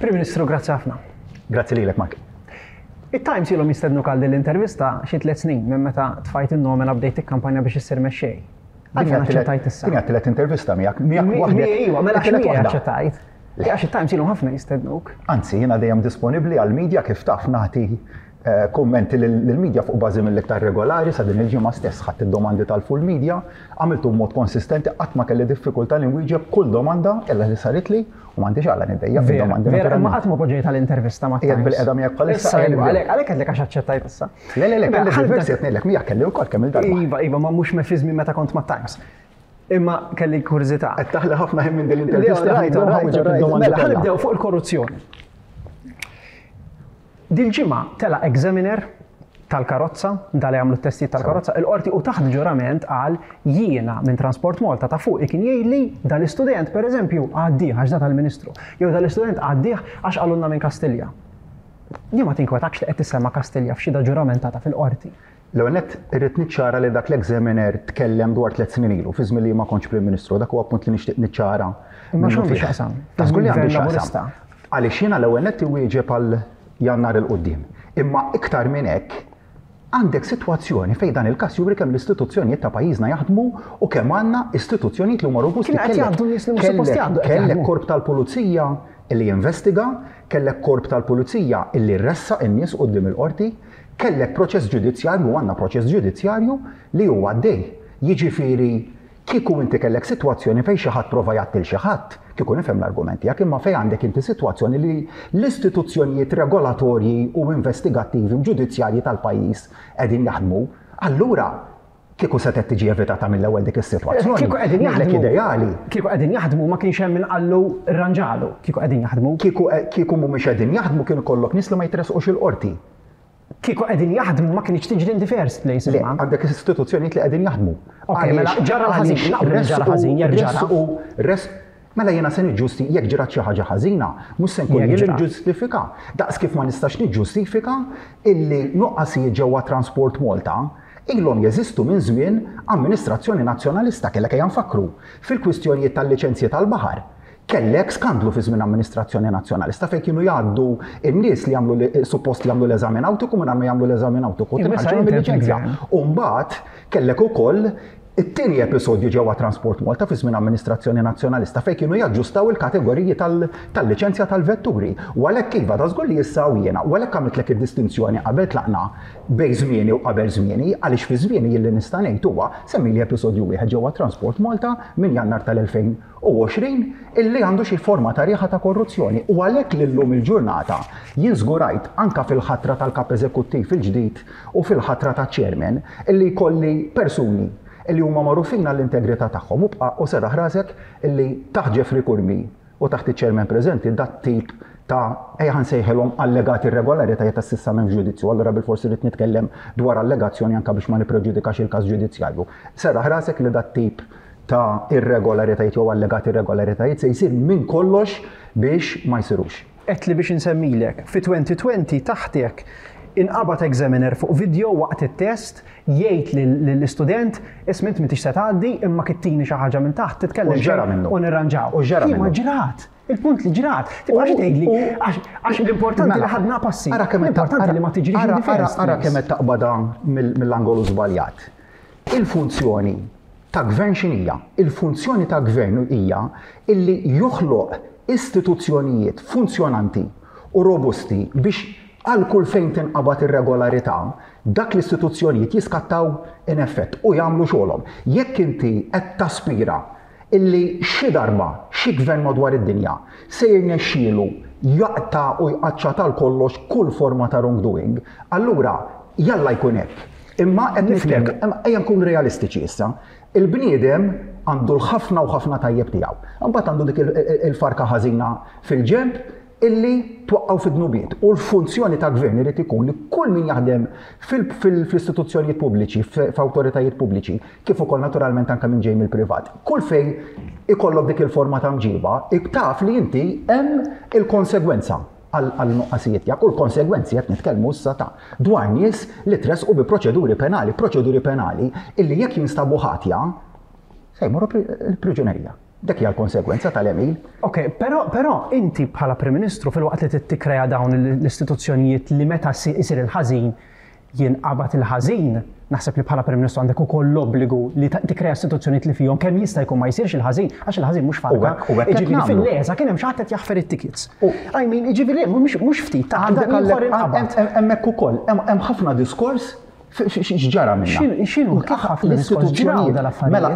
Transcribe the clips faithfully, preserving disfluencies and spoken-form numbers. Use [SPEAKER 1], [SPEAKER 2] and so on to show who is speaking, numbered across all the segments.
[SPEAKER 1] Prim Ministru, grazzi ħafna.
[SPEAKER 2] Grazzi lilek, Mark.
[SPEAKER 1] It-Times ilhom jistednu għal l-intervista xi tliet snin minn meta tfajt in-nomina, bdejt ikkampanja biex issir mexxej. Għalfejn aċċettajt issa?
[SPEAKER 2] Din tielet intervista miegħek, miegħek
[SPEAKER 1] waħdek. Iva, mela x'miegħek aċċettajt? Għax it-Times ilhom ħafna jistednuk.
[SPEAKER 2] Anzi, jiena dejjem disponibbli għall-medja, kif taf, nagħti eh, kummenti lill-medja fuq bażi mill-iktar regolari. Sa din il-ġimgħa stess ħadd id-domandi tal-full media, għamiltu b'mod konsistenti, qatt ma kelli diffikultà li nwieġeb kull domanda illa li saritli u m'għandix għala niddejjaq
[SPEAKER 1] fid-domandi. Vera, ma qatt ma poġġejt għall-intervista ma'
[SPEAKER 2] Qiegħed bilqiegħda miegħek bħalissa.
[SPEAKER 1] Issa, għalhekk għalhekk għedlek għax aċċettajt issa.
[SPEAKER 2] Le, le, le, kelli diversi, qed ngħidlek, miegħek kelli wkoll kemm il-darba.
[SPEAKER 1] Iva, iva, ma mhux fi żmien meta kont ma' Times. Imma kelli kurżità.
[SPEAKER 2] Qed taħli ħafna ħin minn din l-intervista.
[SPEAKER 1] Right, right, right. Mela, ħa nibdew fuq il-korruzzjoni. Dil-ġimgħa tela examiner tal-karozza, dal jagħmlu t-testijiet tal-karozza, il-qorti u taħt ġurament qal: "Jiena minn Transport Malta ta' fuq kien jgħidli dal-istudent, pereżempju, għaddih għax da tal-Ministru, jew dal-istudent għaddih għax qalulna minn Kastilja." Jien ma tinkwetakx li qed tissemma Kastilja f'xhieda ġuramentata fil-qorti?
[SPEAKER 2] L-ewwel nett irrid niċċara li dak l-examiner tkellem dwar tliet snin ilu, fi żmien li ma kontx Prim Ministru, dak huwa punt li nixtieq niċċara.
[SPEAKER 1] Imma x'għandu x'jaqsam?
[SPEAKER 2] Ta' żgur li għandu x'jaqsam. Għaliex jiena l-ewwel nett iwieġeb għal Jannar 'il quddiem. Imma iktar minn hekk, għandek sitwazzjoni fejn dan il-każ juri kemm l-istituzzjonijiet ta' pajjiżna jaħdmu u kemm għandna istituzzjonijiet li huma robusti.
[SPEAKER 1] Kien qed jgħaddu nies li mhux suppost jgħaddu, qed
[SPEAKER 2] Kellek
[SPEAKER 1] jaħdmu.
[SPEAKER 2] korp tal-pulizija illi jinvestiga, kellek korp tal-pulizija illi ressaq in-nies quddiem il-qorti, kellek proċess ġudizzjarju, għandna proċess ġudizzjarju li huwa għaddej. Jiġifieri, kieku inti kellek sitwazzjoni fejn xi ħadd prova jgħatti 'l xi ħadd, kieku nifhem l-argument tiegħek, imma fejn għandek inti sitwazzjoni li l-istituzzjonijiet regolatorji u investigattivi u ġudizzjarji tal-pajjiż qegħdin jaħdmu, allura kieku setgħet tiġi evitata mill-ewwel dik is-sitwazzjoni.
[SPEAKER 1] Kieku qegħdin
[SPEAKER 2] Ngħidlek
[SPEAKER 1] jaħdmu.
[SPEAKER 2] Ideali.
[SPEAKER 1] Kieku qegħdin jaħdmu, ma kienx hemm min qallu rranġalu. Kieku qegħdin jaħdmu.
[SPEAKER 2] Kieku kieku mhumiex qegħdin jaħdmu, kienu kollok nies li ma jitresqux il-qorti.
[SPEAKER 1] Kieku qegħdin jaħdmu, ma kienx tiġri in the first place.
[SPEAKER 2] Le,
[SPEAKER 1] Imma.
[SPEAKER 2] għandek istituzzjonijiet li qegħdin jaħdmu.
[SPEAKER 1] Ok, mela
[SPEAKER 2] Għaliex-
[SPEAKER 1] ġara l-ħażin,
[SPEAKER 2] għaliex
[SPEAKER 1] naqblu li ġara
[SPEAKER 2] resqu-
[SPEAKER 1] ħażin, jekk ġara.
[SPEAKER 2] resqu- res- Mela jiena se niġġusti jekk ġrat xi ħaġa ħażina, mhux se nkun
[SPEAKER 1] Jekk
[SPEAKER 2] jien li
[SPEAKER 1] ġrat.
[SPEAKER 2] niġġustifika. Daqs kif ma nistax niġġustifika illi nuqqasijiet ġewwa Transport Malta ilhom jeżistu minn żmien amministrazzjoni nazzjonalista. Kellek, ejja nfakru, fil-kwistjonijiet tal-liċenzji tal-baħar. Kellek skandlu fi żmien amministrazzjoni nazzjonalista fejn kienu jgħaddu in-nies li jagħmlu li- suppost li jagħmlu l-eżami nautiku minn ma jagħmlu l-eżami nautiku.
[SPEAKER 1] Imma issa
[SPEAKER 2] Tinħarġu
[SPEAKER 1] inti
[SPEAKER 2] mill-liċenzja.
[SPEAKER 1] fil-gvern.
[SPEAKER 2] U mbagħad kellek ukoll it-tieni episodju ġewwa Transport Malta fi żmien amministrazzjoni nazzjonalista fejn kienu jaġġustaw il-kategoriji tal- tal-liċenzja tal-vetturi. U għalhekk iva, da żgur li issa u jiena, u għalhekk għamiltlek id-distinzjoni qabel tlaqna bejn żmieni u qabel żmieni, għaliex fi żmieni jilli nista' ngħid huwa semmi li episodju wieħed ġewwa Transport Malta minn Jannar tal-elfejn u għoxrin illi għandu xi forma ta' riħa ta' korruzzjoni. U għalhekk li llum il-ġurnata jien żgurajt anka fil-ħatra tal-kap eżekuttiv il-ġdid u fil-ħatra ta' chairman illi jkolli persuni illi huma magħrufin għall-integrità tagħhom, u bqa' u serraħ rasek illi taħt Jeffrey Curmi u taħt iċ-chairman preżenti dat tip ta', ejja nsejħilhom, allegati irregolaritajiet ta' s'issa m'hemmx ġudizzju, allura bil-forsi rrid nitkellem dwar allegazzjoni anka biex ma nippreġudikax il-każ ġudizzjarju. Serraħ rasek li dat tip ta' irregolaritajiet jew allegati irregolaritajiet se jsir minn kollox biex ma jsirux.
[SPEAKER 1] Għedt li biex insemmilek, fi elfejn u għoxrin taħtek inqabad examiner fuq video waqt it-test jgħid lill-istudent: "Isma', int m'intix se tgħaddi, imma kittini xi ħaġa minn taħt, titkellem
[SPEAKER 2] U x'ġara
[SPEAKER 1] xejn
[SPEAKER 2] minnu?
[SPEAKER 1] u nirranġaw."
[SPEAKER 2] U x'ġara
[SPEAKER 1] Imma
[SPEAKER 2] minnu?
[SPEAKER 1] ġrat. Il-punt li ġrat. Tibqax
[SPEAKER 2] U-
[SPEAKER 1] tgħidli
[SPEAKER 2] u-
[SPEAKER 1] għax għax l-importanti
[SPEAKER 2] Mela,
[SPEAKER 1] li ħadna passi.
[SPEAKER 2] Ara kemm qed ta-
[SPEAKER 1] L-importanti li ma tiġrix in
[SPEAKER 2] ara-
[SPEAKER 1] the first
[SPEAKER 2] ara- Ara
[SPEAKER 1] place.
[SPEAKER 2] kemm qed taqbada mill- mill-angolu żbaljat. Il-funzjoni ta' gvern x'inhija? Il-funzjoni ta' gvern hija illi joħloq istituzzjonijiet funzjonanti u robusti biex għal kull fejn tinqabad irregolarità, dak l-istituzzjonijiet jiskattaw in effett u jagħmlu xogħolhom. Jekk inti qed taspira illi xi darba xi gvern madwar id-dinja se jirnexxielu jaqta' u jqaċċata għal kollox kull forma ta' wrongdoing, allura jalla jkun hekk. Imma qed nitkellmu, imma ejja nkunu realistiċi issa. Il-bniedem għandu l-ħafna u ħafna tajjeb tiegħu. Imbagħad għandu dik il- il- il-farka ħażina fil-ġenb illi twaqqaw fid-dnubiet. U l-funzjoni ta' gvern irid ikun li kull min jaħdem fil-istituzzjonijiet pubbliċi, f'awtoritajiet pubbliċi, kif ukoll naturalment anke minn ġej mill-privat. Kull fejn ikollok dik il-forma ta' mġiba, taf li inti hemm il-konsegwenza għal-nuqqasijiet tiegħek, u l-konsegwenzi qed nitkellmu issa ta' dwar nies li tresqu bi proċeduri penali, proċeduri penali illi jekk jinstabu ħatja se jmorru il-priġunerija. Dak hija l-konsegwenza tal-għemil.
[SPEAKER 1] Ok, però, però inti bħala Prim Ministru, filwaqt li tikkrea dawn l-istituzzjonijiet li meta isir il-ħażin jinqabad il-ħażin, naħseb li bħala Prim Ministru għandek ukoll l-obbligu li tikkrea istituzzjonijiet li fihom kemm jista' jkun ma jsirx il-ħażin, għax il-ħażin mhux farka. Jiġifieri fil-LESA kien hemm xi ħadd qed jaħfer it-tickets. I mean, jiġifieri mhux ftit ta' ieħor inqabad.
[SPEAKER 2] Hemmhekk ukoll hemm ħafna diskors x'ġara minna.
[SPEAKER 1] X'inhu kif ħafna diskors ġraw dal-affarijiet?
[SPEAKER 2] Mela,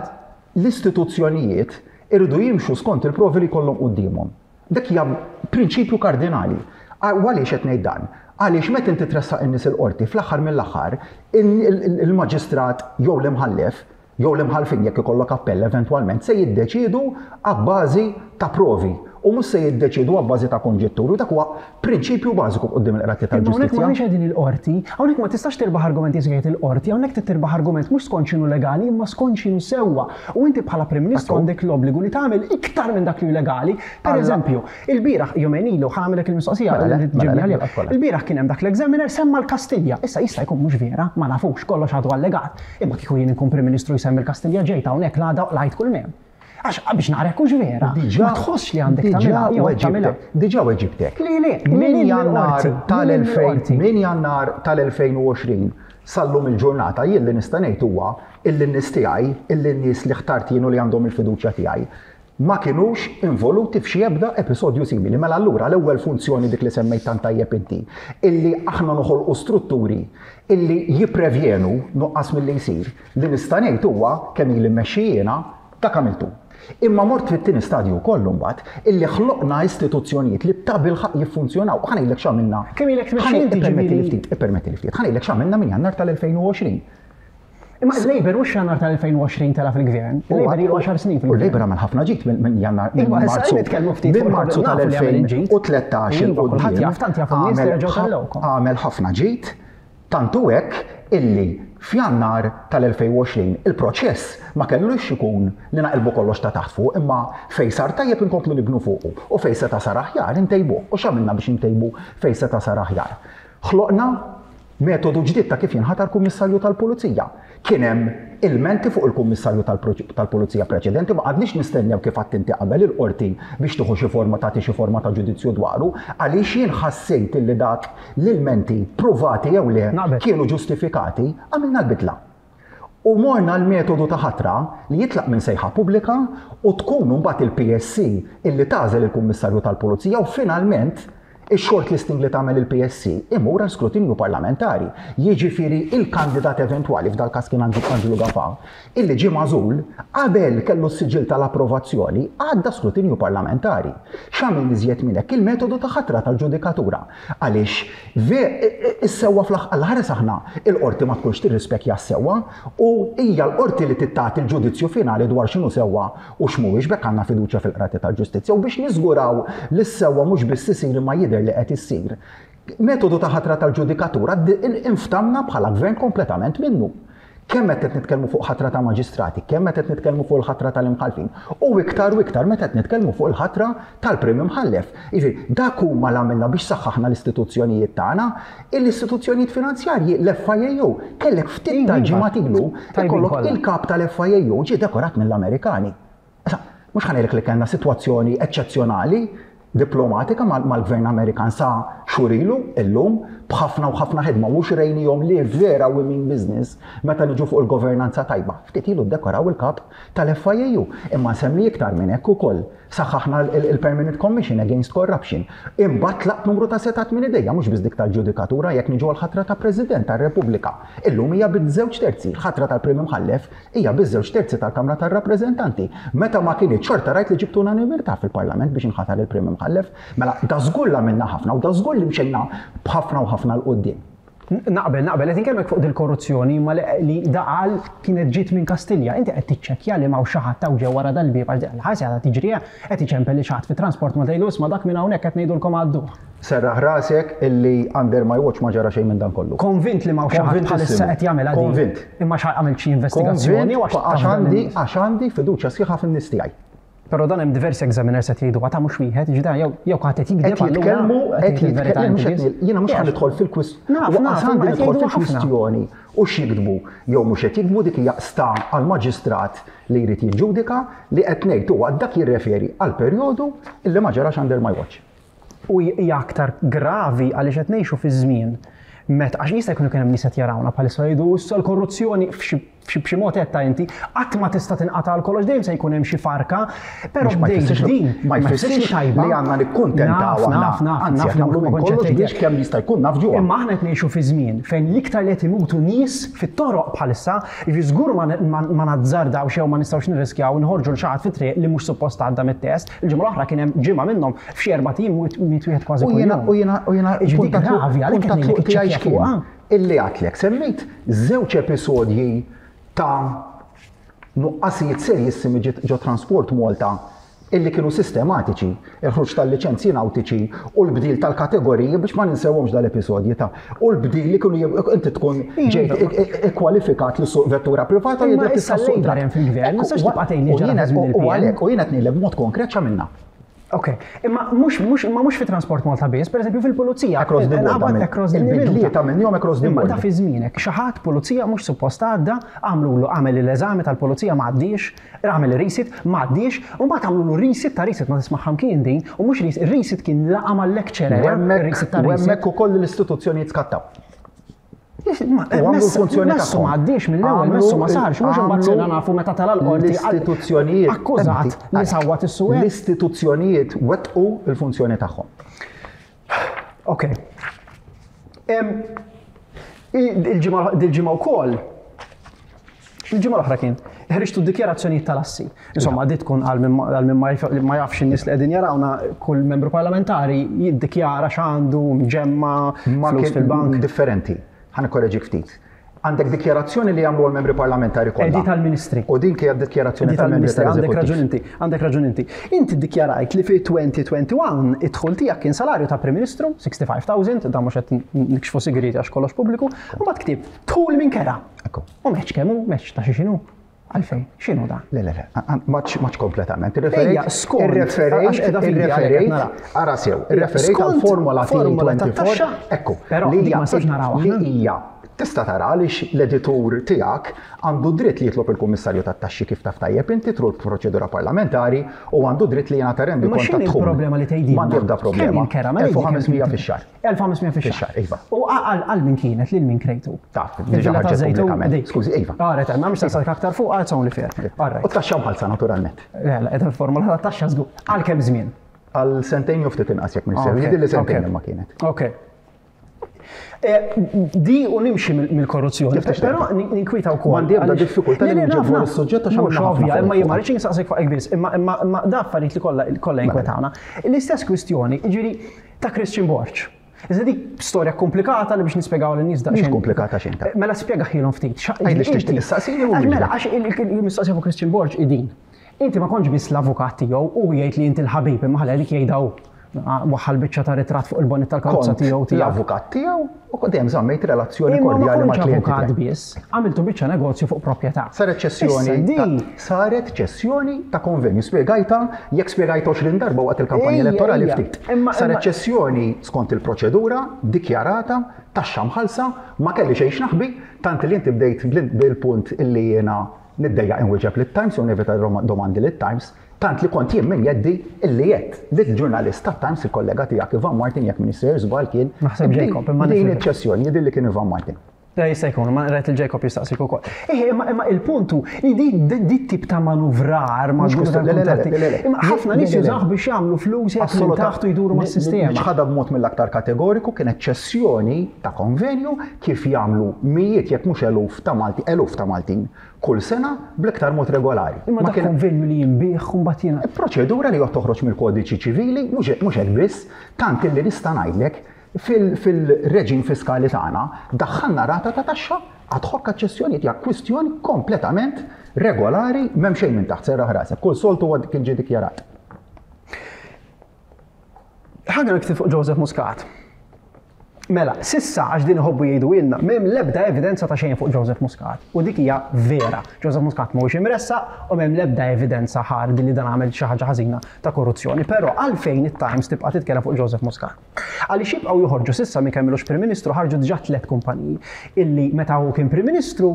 [SPEAKER 2] l-istituzzjonijiet irridu jimxu skont il-provi li jkollhom quddiemhom. Dak hija prinċipju kardinali. U għaliex qed ngħid dan? Għaliex meta inti tressaq in-nies il-qorti, fl-aħħar mill-aħħar il-maġistrat jew l-imħallef jew l-imħallfin, jekk ikollok appell eventwalment, se jiddeċiedu abbażi ta' provi u mhux se jiddeċiedu abbażi ta' konġetturi. Dak huwa prinċipju bażiku quddiem il-qrati
[SPEAKER 1] Imma hawnhekk
[SPEAKER 2] tal-ġustizzja.
[SPEAKER 1] m'għandniex qegħdin il-qorti, hawnhekk ma tistax tirbaħ argumenti jgħid il-qorti, hawnhekk trid tirbaħ argument mhux skont x'inhu legali imma skont x'inhu sewwa. U inti bħala Prim Ministru għandek l-obbligu li tagħmel iktar minn dak li hu legali. Per eżempju, il-bieraħ, jumejn ilu, ħa nagħmilek il-mistoqsija
[SPEAKER 2] Mela le,
[SPEAKER 1] li
[SPEAKER 2] mela
[SPEAKER 1] ġibni
[SPEAKER 2] le,
[SPEAKER 1] għalija.
[SPEAKER 2] mela kollha.
[SPEAKER 1] Il-bieraħ kien hemm dak l-examiner semma l-Kastilja. Issa jista' jkun mhux vera, ma nafux, kollox għadu allegat. Imma kieku jien inkun Prim Ministru jsemmi l-Kastilja, ġejt hawnhekk l-għada u lajt kull mem. Għax biex nara hux vera. Ma tħossx li għandek tagħmilha jew tagħmilha.
[SPEAKER 2] Diġà weġibtek.
[SPEAKER 1] Li le,
[SPEAKER 2] Min
[SPEAKER 1] min
[SPEAKER 2] Jannar
[SPEAKER 1] il-qorti,
[SPEAKER 2] tal-elfejn
[SPEAKER 1] min il-qorti.
[SPEAKER 2] Min Jannar tal-elfejn u għoxrin sallum il-ġurnata, jien li nista' ngħid huwa illi n-nies tiegħi, illi n-nies li ħtart jien u li għandhom il-fiduċja tiegħi, ma kinux involuti f'xi ebda episodju simili. Mela allura l-ewwel funzjoni, dik li semmejt tant tajjeb inti, illi aħna noħolqu strutturi illi jipprevjenu nuqqas milli jsir, li nista' ngħid huwa kemm ili mmexxi jiena dak għamiltu. Imma mort fit-tieni stadju wkoll mbagħad, illi ħloqna istituzzjonijiet li tabilħaqq jiffunzjonaw. Ħa ngħidlek x'għamilna.
[SPEAKER 1] Kemm ilek tmexxi inti,
[SPEAKER 2] Ippermetti li
[SPEAKER 1] ġifieri?
[SPEAKER 2] ftit, ippermetti li ftit. Ħa ngħidlek x'għamilna minn Jannar tal-elfejn u għoxrin.
[SPEAKER 1] Imma il-Labour mhux Jannar tal-elfejn u għoxrin tela fil-gvern. Il-Labour ilu għaxar snin
[SPEAKER 2] U
[SPEAKER 1] fil-gvern.
[SPEAKER 2] l-Labour għamel ħafna ġid minn minn Jannar, minn
[SPEAKER 1] Iva, issa
[SPEAKER 2] Marzu.
[SPEAKER 1] nitkellmu ftit
[SPEAKER 2] Minn
[SPEAKER 1] fuq
[SPEAKER 2] Marzu
[SPEAKER 1] nafu li għamel il-ġid.
[SPEAKER 2] tal-elfejn u tlettax
[SPEAKER 1] Iva,
[SPEAKER 2] il
[SPEAKER 1] kulħadd
[SPEAKER 2] quddiem
[SPEAKER 1] jaf, tant jafu n-nies li
[SPEAKER 2] għamel
[SPEAKER 1] reġgħu
[SPEAKER 2] ħa-
[SPEAKER 1] tellgħukom.
[SPEAKER 2] Għamel ħafna ġid, tantu hekk illi f'Jannar tal-elfejn u għoxrin il-proċess ma kellux ikun li naqilbu kollox ta' taħt fuq, imma fej sar tajjeb inkomplu nibnu fuqu u fej seta' sar aħjar intejbu. U x'għamilna biex intejbu fej seta' sar aħjar? Ħloqna metodu ġdid ta' kif jinħatar kummissarju tal-Pulizija. Kien hemm ilmenti fuq il-kummissarju tal-Pro- tal-Pulizija preċedenti, ma qgħadniex nistennew, kif għedt inti qabel, il-qorti biex tieħu xi forma, tagħti xi forma ta' ġudizzju dwaru, għaliex jien ħassejt illi dak l-ilmenti, pruvati jew le,
[SPEAKER 1] Naqbel.
[SPEAKER 2] kienu ġustifikati, għamilna l-bidla. U morna l-metodu ta' ħatra li jitlaq minn sejħa pubblika u tkun mbagħad il-P S C illi tagħżel il-Kummissarju tal-Pulizija u finalment il-shortlisting li tagħmel il-P S C imur għal skrutinju parlamentari. Jiġifieri il-kandidat eventwali, f'dal każ kien Angelo Gafà, illi ġie magħżul, qabel kellu s-siġil tal-approvazzjoni għadda skrutinju parlamentari. X'għamil iżjed minn hekk? Il-metodu ta' ħatra tal-ġudikatura. Għaliex is-sewwa fl-aħħar, aħna il-qorti ma tkunx tirrispekja s-sewwa u hija l-qorti li tagħti il-ġudizzju finali dwar x'inhu sewwa u x'mhuwiex. B'hekk għandna fiduċja fil-qrati tal-ġustizzja u biex niżguraw li s-sewwa mhux biss isir imma jidher li qed issir. Metodu ta' ħatra tal-ġudikatura inftamna bħala gvern kompletament minnu. Kemm meta qed nitkellmu fuq ħatra ta' maġistrati, kemm meta qed nitkellmu fuq il-ħatra tal-imħalfin, u iktar u iktar meta qed nitkellmu fuq il-ħatra tal-prim imħallef. Jiġifieri, dak huma l għamilna biex saħħaħna l-istituzzjonijiet tagħna, l-istituzzjonijiet finanzjarji, l-F I A U, kellek ftit ta'
[SPEAKER 1] Iva,
[SPEAKER 2] ġimgħat ilu,
[SPEAKER 1] tajbin
[SPEAKER 2] ikollok
[SPEAKER 1] kollha.
[SPEAKER 2] il-kap tal-F I A U ġie dekorat mill-Amerikani. Issa, mhux ħa ngħidlek li kellna sitwazzjoni eċċezzjonali diplomatika mal- mal-gvern Amerikan sa xhur ilu, illum b'ħafna u ħafna ħidma u xrejnihom li vera we mean business meta niġu fuq il-governanza tajba. Ftit ilu dekoraw il-kap tal-F I A U. Imma nsemmi iktar minn hekk ukoll. Saħħaħna il-Permanent Commission Against Corruption. Imbagħad tlaqt numru ta' setgħat minn idejja, mhux biss dik tal-ġudikatura, jekk niġu għal-ħatra ta' President tar-Repubblika. Illum hija biż-żewġ terzi. Il-ħatra tal-Prim Imħallef hija biż-żewġ terzi tal-Kamra tar-Rappreżentanti. Meta ma kienx, xorta rajt li ġibtu unanimità fil-Parlament biex inħatar il-Prim Imħallef. Mela da żgur li għamilna ħafna u da żgur li mxejna b'ħafna u ħafna 'l quddiem.
[SPEAKER 1] Naqbel, naqbel, qed inkellmek fuq dil-korruzzjoni ma li li daqal kienet ġiet minn Kastilja. Inti qed tiċċekkja li ma xi ħadd ġew wara dal-bieb, għax l-ħasja ta' tiġrija qed iċempel li xi ħadd fit-Transport ma tgħidu, "Isma', dak minn hawnhekk qed ngħidulkom għaddu."
[SPEAKER 2] Serraħ rasek illi under my watch ma ġara xejn minn dan kollu.
[SPEAKER 1] Konvint li ma xi ħadd bħalissa qed jagħmel għadi.
[SPEAKER 2] Konvint.
[SPEAKER 1] Imma xi għamil xi investigazzjoni
[SPEAKER 2] Konvint
[SPEAKER 1] u għax
[SPEAKER 2] għax
[SPEAKER 1] taf dan
[SPEAKER 2] għandi
[SPEAKER 1] in-nies.
[SPEAKER 2] għax għandi fiduċja sħiħa fin-nies tiegħi.
[SPEAKER 1] Però dan hemm diversi examiners qed jgħidu ta' mhux wieħed, jiġi dan jew jew qed jikdeb
[SPEAKER 2] Qed jitkellmu, qed jitkellmu, jiena mhux ħa nidħol fil-kwistjoni.
[SPEAKER 1] Naf, naf,
[SPEAKER 2] għandi
[SPEAKER 1] qed
[SPEAKER 2] nidħol
[SPEAKER 1] jgħidu ħafna.
[SPEAKER 2] fil-kwistjoni u x'jiktbu jew mhux qed jiktbu dik hija sta għall-maġistrat li jrid jiġġudika li qed ngħid huwa dak jirreferi għal perjodu illi ma ġarax under my watch.
[SPEAKER 1] U hija aktar gravi għaliex qed ngħixu fi żmien meta għax jista' jkun kien hemm nies qed jarawna bħalissa jgħidu issa l-korruzzjoni f'xi f'xi mod qed ta' inti qatt ma tista' tinqata' għal kollox dejjem se jkun hemm xi farka, però
[SPEAKER 2] Mhux ma
[SPEAKER 1] bdejt
[SPEAKER 2] jfissirx
[SPEAKER 1] din
[SPEAKER 2] ma jfissirx
[SPEAKER 1] tajba
[SPEAKER 2] li għandna nikkuntentaw
[SPEAKER 1] Naf,
[SPEAKER 2] aħna.
[SPEAKER 1] naf, naf,
[SPEAKER 2] Anzi,
[SPEAKER 1] naf
[SPEAKER 2] qed nagħmlu
[SPEAKER 1] li
[SPEAKER 2] minn
[SPEAKER 1] ma
[SPEAKER 2] kollox
[SPEAKER 1] kontx
[SPEAKER 2] biex kemm jista' jkun naf ġuha.
[SPEAKER 1] Imma aħna qed ngħixu fi żmien fejn l-iktar li qed imutu nies fit-toroq bħalissa, jiġi żgur ma ma- ma nazzardawx jew ma nistgħux nirriskjaw nħorġu l xi ħadd fit-triq li mhux suppost għadda mit-test. Il-ġimgħa l-oħra kien hemm ġimgħa minnhom f'xi erba' tim miet wieħed kważi
[SPEAKER 2] U jiena
[SPEAKER 1] kuljum.
[SPEAKER 2] u jiena u jiena
[SPEAKER 1] Jiġi dik
[SPEAKER 2] punta tluq-
[SPEAKER 1] gravi għalhekk
[SPEAKER 2] punta
[SPEAKER 1] qed
[SPEAKER 2] tluq
[SPEAKER 1] ngħidlek
[SPEAKER 2] tiegħi
[SPEAKER 1] iċċekkja
[SPEAKER 2] x'kien?
[SPEAKER 1] fuqha.
[SPEAKER 2] Illi għatlek semmejt żewġ episodji ta' nuqqasijiet serjissimi ġiet ġo Transport Malta illi kienu sistematiċi, il-ħruġ tal-liċenzji nautiċi u l-bdil tal-kategoriji biex ma ninsewhomx dal-episodji ta' u l-bdil li kienu jib- inti tkun ġejt ikkwalifikat li suq vettura privata
[SPEAKER 1] Imma
[SPEAKER 2] jidher
[SPEAKER 1] issa
[SPEAKER 2] tista' suq
[SPEAKER 1] l-Labour hemm fil-gvern, ma tistax tibqa' tgħidli
[SPEAKER 2] U
[SPEAKER 1] ġara
[SPEAKER 2] jiena-
[SPEAKER 1] fi żmien
[SPEAKER 2] U
[SPEAKER 1] il-P N.
[SPEAKER 2] għalhekk u jiena qed ngħidlek b'mod konkret x'għamilna.
[SPEAKER 1] Ok, imma mhux mhux imma mhux fi Transport Malta biss, pereżempju fil-pulizija.
[SPEAKER 2] Across the board
[SPEAKER 1] Inqabad
[SPEAKER 2] għamil.
[SPEAKER 1] across the
[SPEAKER 2] Il-bidliet
[SPEAKER 1] minuta.
[SPEAKER 2] għamilnihom across the
[SPEAKER 1] Imma
[SPEAKER 2] board.
[SPEAKER 1] da fi żmienek, xi ħadd pulizija mhux suppost għadda, għamlulu għamel l-eżami tal-pulizija ma għaddiex, għamel ir-resit, ma għaddiex, u mbagħad għamlulu resit ta' resit ma tismaħħam kien din, u mhux resit, ir-resit kien laqa mal-lecturer,
[SPEAKER 2] U hemmhekk
[SPEAKER 1] ir-resit ta'
[SPEAKER 2] u
[SPEAKER 1] resit.
[SPEAKER 2] hemmhekk ukoll l-istituzzjonijiet skattaw.
[SPEAKER 1] Ma-
[SPEAKER 2] U għamlu
[SPEAKER 1] messu-
[SPEAKER 2] l-funzjoni
[SPEAKER 1] Messu
[SPEAKER 2] tagħhom.
[SPEAKER 1] ma għaddiex mill-ewwel,
[SPEAKER 2] Għamlu
[SPEAKER 1] messu ma sarx, mhux imbagħad
[SPEAKER 2] għamlu
[SPEAKER 1] sirna nafu meta tala l-qorti.
[SPEAKER 2] L-istituzzjonijiet.
[SPEAKER 1] Akkużat li sawwat is-suwed.
[SPEAKER 2] L-istituzzjonijiet wettqu il-funzjoni tagħhom.
[SPEAKER 1] Ok. Em, Il-ġimgħa il-ġimgħa wkoll Il-ġimgħa l-oħra kien ħriġtu dikjarazzjonijiet tal-assi. Insomma, di tkun għal min ma għal min ma jaf- ma jafx in-nies li qegħdin jarawna kull membru parlamentari jiddikjara x'għandu mġemma
[SPEAKER 2] Ma
[SPEAKER 1] flus
[SPEAKER 2] kien
[SPEAKER 1] fil-bank.
[SPEAKER 2] differenti. Ħa nikkoreġik ftit. Għandek dikjarazzjoni li jagħmlu l-membri parlamentari kollha.
[SPEAKER 1] Di tal-ministri.
[SPEAKER 2] U din kienet dikjarazzjoni
[SPEAKER 1] Di
[SPEAKER 2] tal-membri
[SPEAKER 1] tal-ministri, għandek
[SPEAKER 2] tal-eżekuttiv.
[SPEAKER 1] raġun inti, għandek raġun inti. Inti ddikjarajt li fi elfejn u wieħed u għoxrin id-dħul tiegħek kien salarju ta' Prim Ministru, ħamsa u sittin elf, dan mhux qed nikxfu sigriti għax kollox pubbliku, u mbagħad ktibt dħul minn kera.
[SPEAKER 2] Ekku.
[SPEAKER 1] U meċ kemm hu, meċ ta' xi x'inhu. Għalfejn, x'inhu dan?
[SPEAKER 2] Le, le, le, maċ maċ kompletament.
[SPEAKER 1] Ejja, skont,
[SPEAKER 2] Irreferejt,
[SPEAKER 1] għax qiegħda fidi għalhekk qed
[SPEAKER 2] irreferejt,
[SPEAKER 1] nara.
[SPEAKER 2] ara sew, irreferejt
[SPEAKER 1] Skont
[SPEAKER 2] għal-formola
[SPEAKER 1] formola
[SPEAKER 2] T erbgħa u għoxrin,
[SPEAKER 1] tat-taxxa.
[SPEAKER 2] ekku,
[SPEAKER 1] Però
[SPEAKER 2] li
[SPEAKER 1] dik
[SPEAKER 2] hija-
[SPEAKER 1] ma nistax naraw
[SPEAKER 2] li
[SPEAKER 1] aħna.
[SPEAKER 2] hija tista' tara għaliex l-editur tiegħek għandu dritt li jitlob il-kummissarju tat-taxxi kif taf tajjeb inti through l-proċedura parlamentari u għandu dritt li jingħata rendi
[SPEAKER 1] Imma
[SPEAKER 2] kont
[SPEAKER 1] x'inhi
[SPEAKER 2] tad-dħul.
[SPEAKER 1] l-problema li tgħidilna?
[SPEAKER 2] M'għandi ebda problema.
[SPEAKER 1] Kemm il-kera? Mela
[SPEAKER 2] elf u ħames mija fix-xahar.
[SPEAKER 1] elf u ħames mija fix-xahar.
[SPEAKER 2] Fix-xahar, iva.
[SPEAKER 1] U għal għal min kienet lil min krejtu?
[SPEAKER 2] Taf, diġà
[SPEAKER 1] Il-villa ta'
[SPEAKER 2] ħarġet
[SPEAKER 1] Żejtun,
[SPEAKER 2] pubblikament.
[SPEAKER 1] dik.
[SPEAKER 2] Skużi, iva.
[SPEAKER 1] Alright, ma mhux tasal aktar fuq, it's only fair. Alright.
[SPEAKER 2] U taxxa mħallsa naturalment.
[SPEAKER 1] Le, le, qiegħda fil-formola ta' taxxa żgur. Għal kemm żmien?
[SPEAKER 2] Għal sentejn jew ftit inqas jekk minn
[SPEAKER 1] Ok,
[SPEAKER 2] Jidhirli sentejn
[SPEAKER 1] ok.
[SPEAKER 2] imma kienet.
[SPEAKER 1] Ok. Eh, Di u nimxi mill- mill-korruzzjoni,
[SPEAKER 2] Kif tixtieq?
[SPEAKER 1] però nin- ninkwita wkoll.
[SPEAKER 2] M'għandi ebda
[SPEAKER 1] għaliex-
[SPEAKER 2] diffikultà li
[SPEAKER 1] Le, le,
[SPEAKER 2] nġibu
[SPEAKER 1] naf, naf.
[SPEAKER 2] is-suġġett għax
[SPEAKER 1] Mhux
[SPEAKER 2] għamilna ħafna
[SPEAKER 1] ovvja,
[SPEAKER 2] fuq
[SPEAKER 1] imma jien ma
[SPEAKER 2] fuq.
[SPEAKER 1] rridx insaqsik fuq biss, imma imma imma da affarijiet li kollha kollha inkwetawna. L-istess kwistjoni, jiġifieri ta' Christian Borg. Iżda dik storja komplikata li biex nispjegaw lin-nies daqsxejn.
[SPEAKER 2] Mhix komplikata xejn ta'
[SPEAKER 1] Mela spjega ħilhom ftit. Xa-
[SPEAKER 2] Għidli x'tixtieq
[SPEAKER 1] inti-
[SPEAKER 2] issaqsini u
[SPEAKER 1] Għax Mela,
[SPEAKER 2] nwieġbek.
[SPEAKER 1] għax il- il-mistoqsija fuq Christian Borg idin. Inti ma kontx biss l-avukat tiegħu u jgħid li inti l-ħabib imma ħalla dik jgħidha hu. Waħħal biċċa ta' ritratt fuq il-bonnet tal-karozza
[SPEAKER 2] Kont
[SPEAKER 1] tiegħu tiegħek.
[SPEAKER 2] l-avukat tiegħu u dejjem żammejt relazzjoni
[SPEAKER 1] Imma ma
[SPEAKER 2] kordjali
[SPEAKER 1] kontx
[SPEAKER 2] mal-klijenti
[SPEAKER 1] avukat
[SPEAKER 2] tiegħi.
[SPEAKER 1] biss, għamiltu biċċa negozju fuq proprjetà.
[SPEAKER 2] Saret ċessjoni
[SPEAKER 1] Issa di-
[SPEAKER 2] ta- saret ċessjoni ta' konvenju. Spjegajta, jekk spjegajta għoxrin darba waqt il-kampanja
[SPEAKER 1] Ejja,
[SPEAKER 2] elettorali
[SPEAKER 1] ejja.
[SPEAKER 2] ftit.
[SPEAKER 1] Imma-
[SPEAKER 2] Saret
[SPEAKER 1] imma-
[SPEAKER 2] ċessjoni skont il-proċedura, dikjarata, taxxa mħallsa, ma kelli xejn x'naħbi, tant li inti bdejt bil- bil-punt illi jiena niddejjaq inwieġeb lit-Times u nevita domandi lit-Times, tant li kont jien minn jeddi illi jett lill-ġurnalist tat-Times il-kollega tiegħek Ivan Martin jekk Minister żball kien.
[SPEAKER 1] Naħseb Jacob, imma
[SPEAKER 2] Din
[SPEAKER 1] nifhem.
[SPEAKER 2] iċ-ċessjoni jidhirli li kien Ivan Martin.
[SPEAKER 1] Da jista' jkun, ma rajt il-Jacob jistaqsik ukoll. Eh, imma imma il-puntu li di di- di tip ta' manuvrar ma'
[SPEAKER 2] Mhux kwistjoni- le, le, le, le, le, le.
[SPEAKER 1] Imma ħafna
[SPEAKER 2] Le,
[SPEAKER 1] nies
[SPEAKER 2] le, le.
[SPEAKER 1] jużawh biex jagħmlu flus jekk minn taħt u jduru mas-sistema.
[SPEAKER 2] Ħadha b'mod mill-aktar kategoriku kienet ċessjoni ta' konvenju kif jagħmlu mijiet jekk mhux eluf ta' Malti, eluf ta' Maltin kull sena bl-iktar mod regolari.
[SPEAKER 1] Imma
[SPEAKER 2] Ma
[SPEAKER 1] dak
[SPEAKER 2] kien
[SPEAKER 1] konvenju li jinbih u mbagħad jiena.
[SPEAKER 2] proċedura li qed toħroġ mill-kodiċi ċivili, mhux mhux hekk biss, tant illi nista' ngħidlek fil- fil-reġim fiskali tagħna daħħalna rata ta' taxxa ad hoc ċessjoni hija kwistjoni kompletament regolari m'hemm xejn minn taħt serraħ rasek. Kull soltu huwa kien ġie dikjarat.
[SPEAKER 1] Ħaġa nikti fuq Joseph Muscat. Mela, s'issa għax din iħobbu jgħidu ilna, m'hemm l-ebda evidenza ta' xejn fuq Joseph Muscat. U dik hija vera. Joseph Muscat mhuwiex imressaq u m'hemm l-ebda evidenza ħard li dan għamel xi ħaġa ħażina ta' korruzzjoni. Però għalfejn it-Times tibqa' titkellem fuq Joseph Muscat? Għaliex jibqgħu joħorġu s'issa minn kemm ilux Prim Ministru ħarġu diġà tliet kumpaniji illi meta hu kien Prim Ministru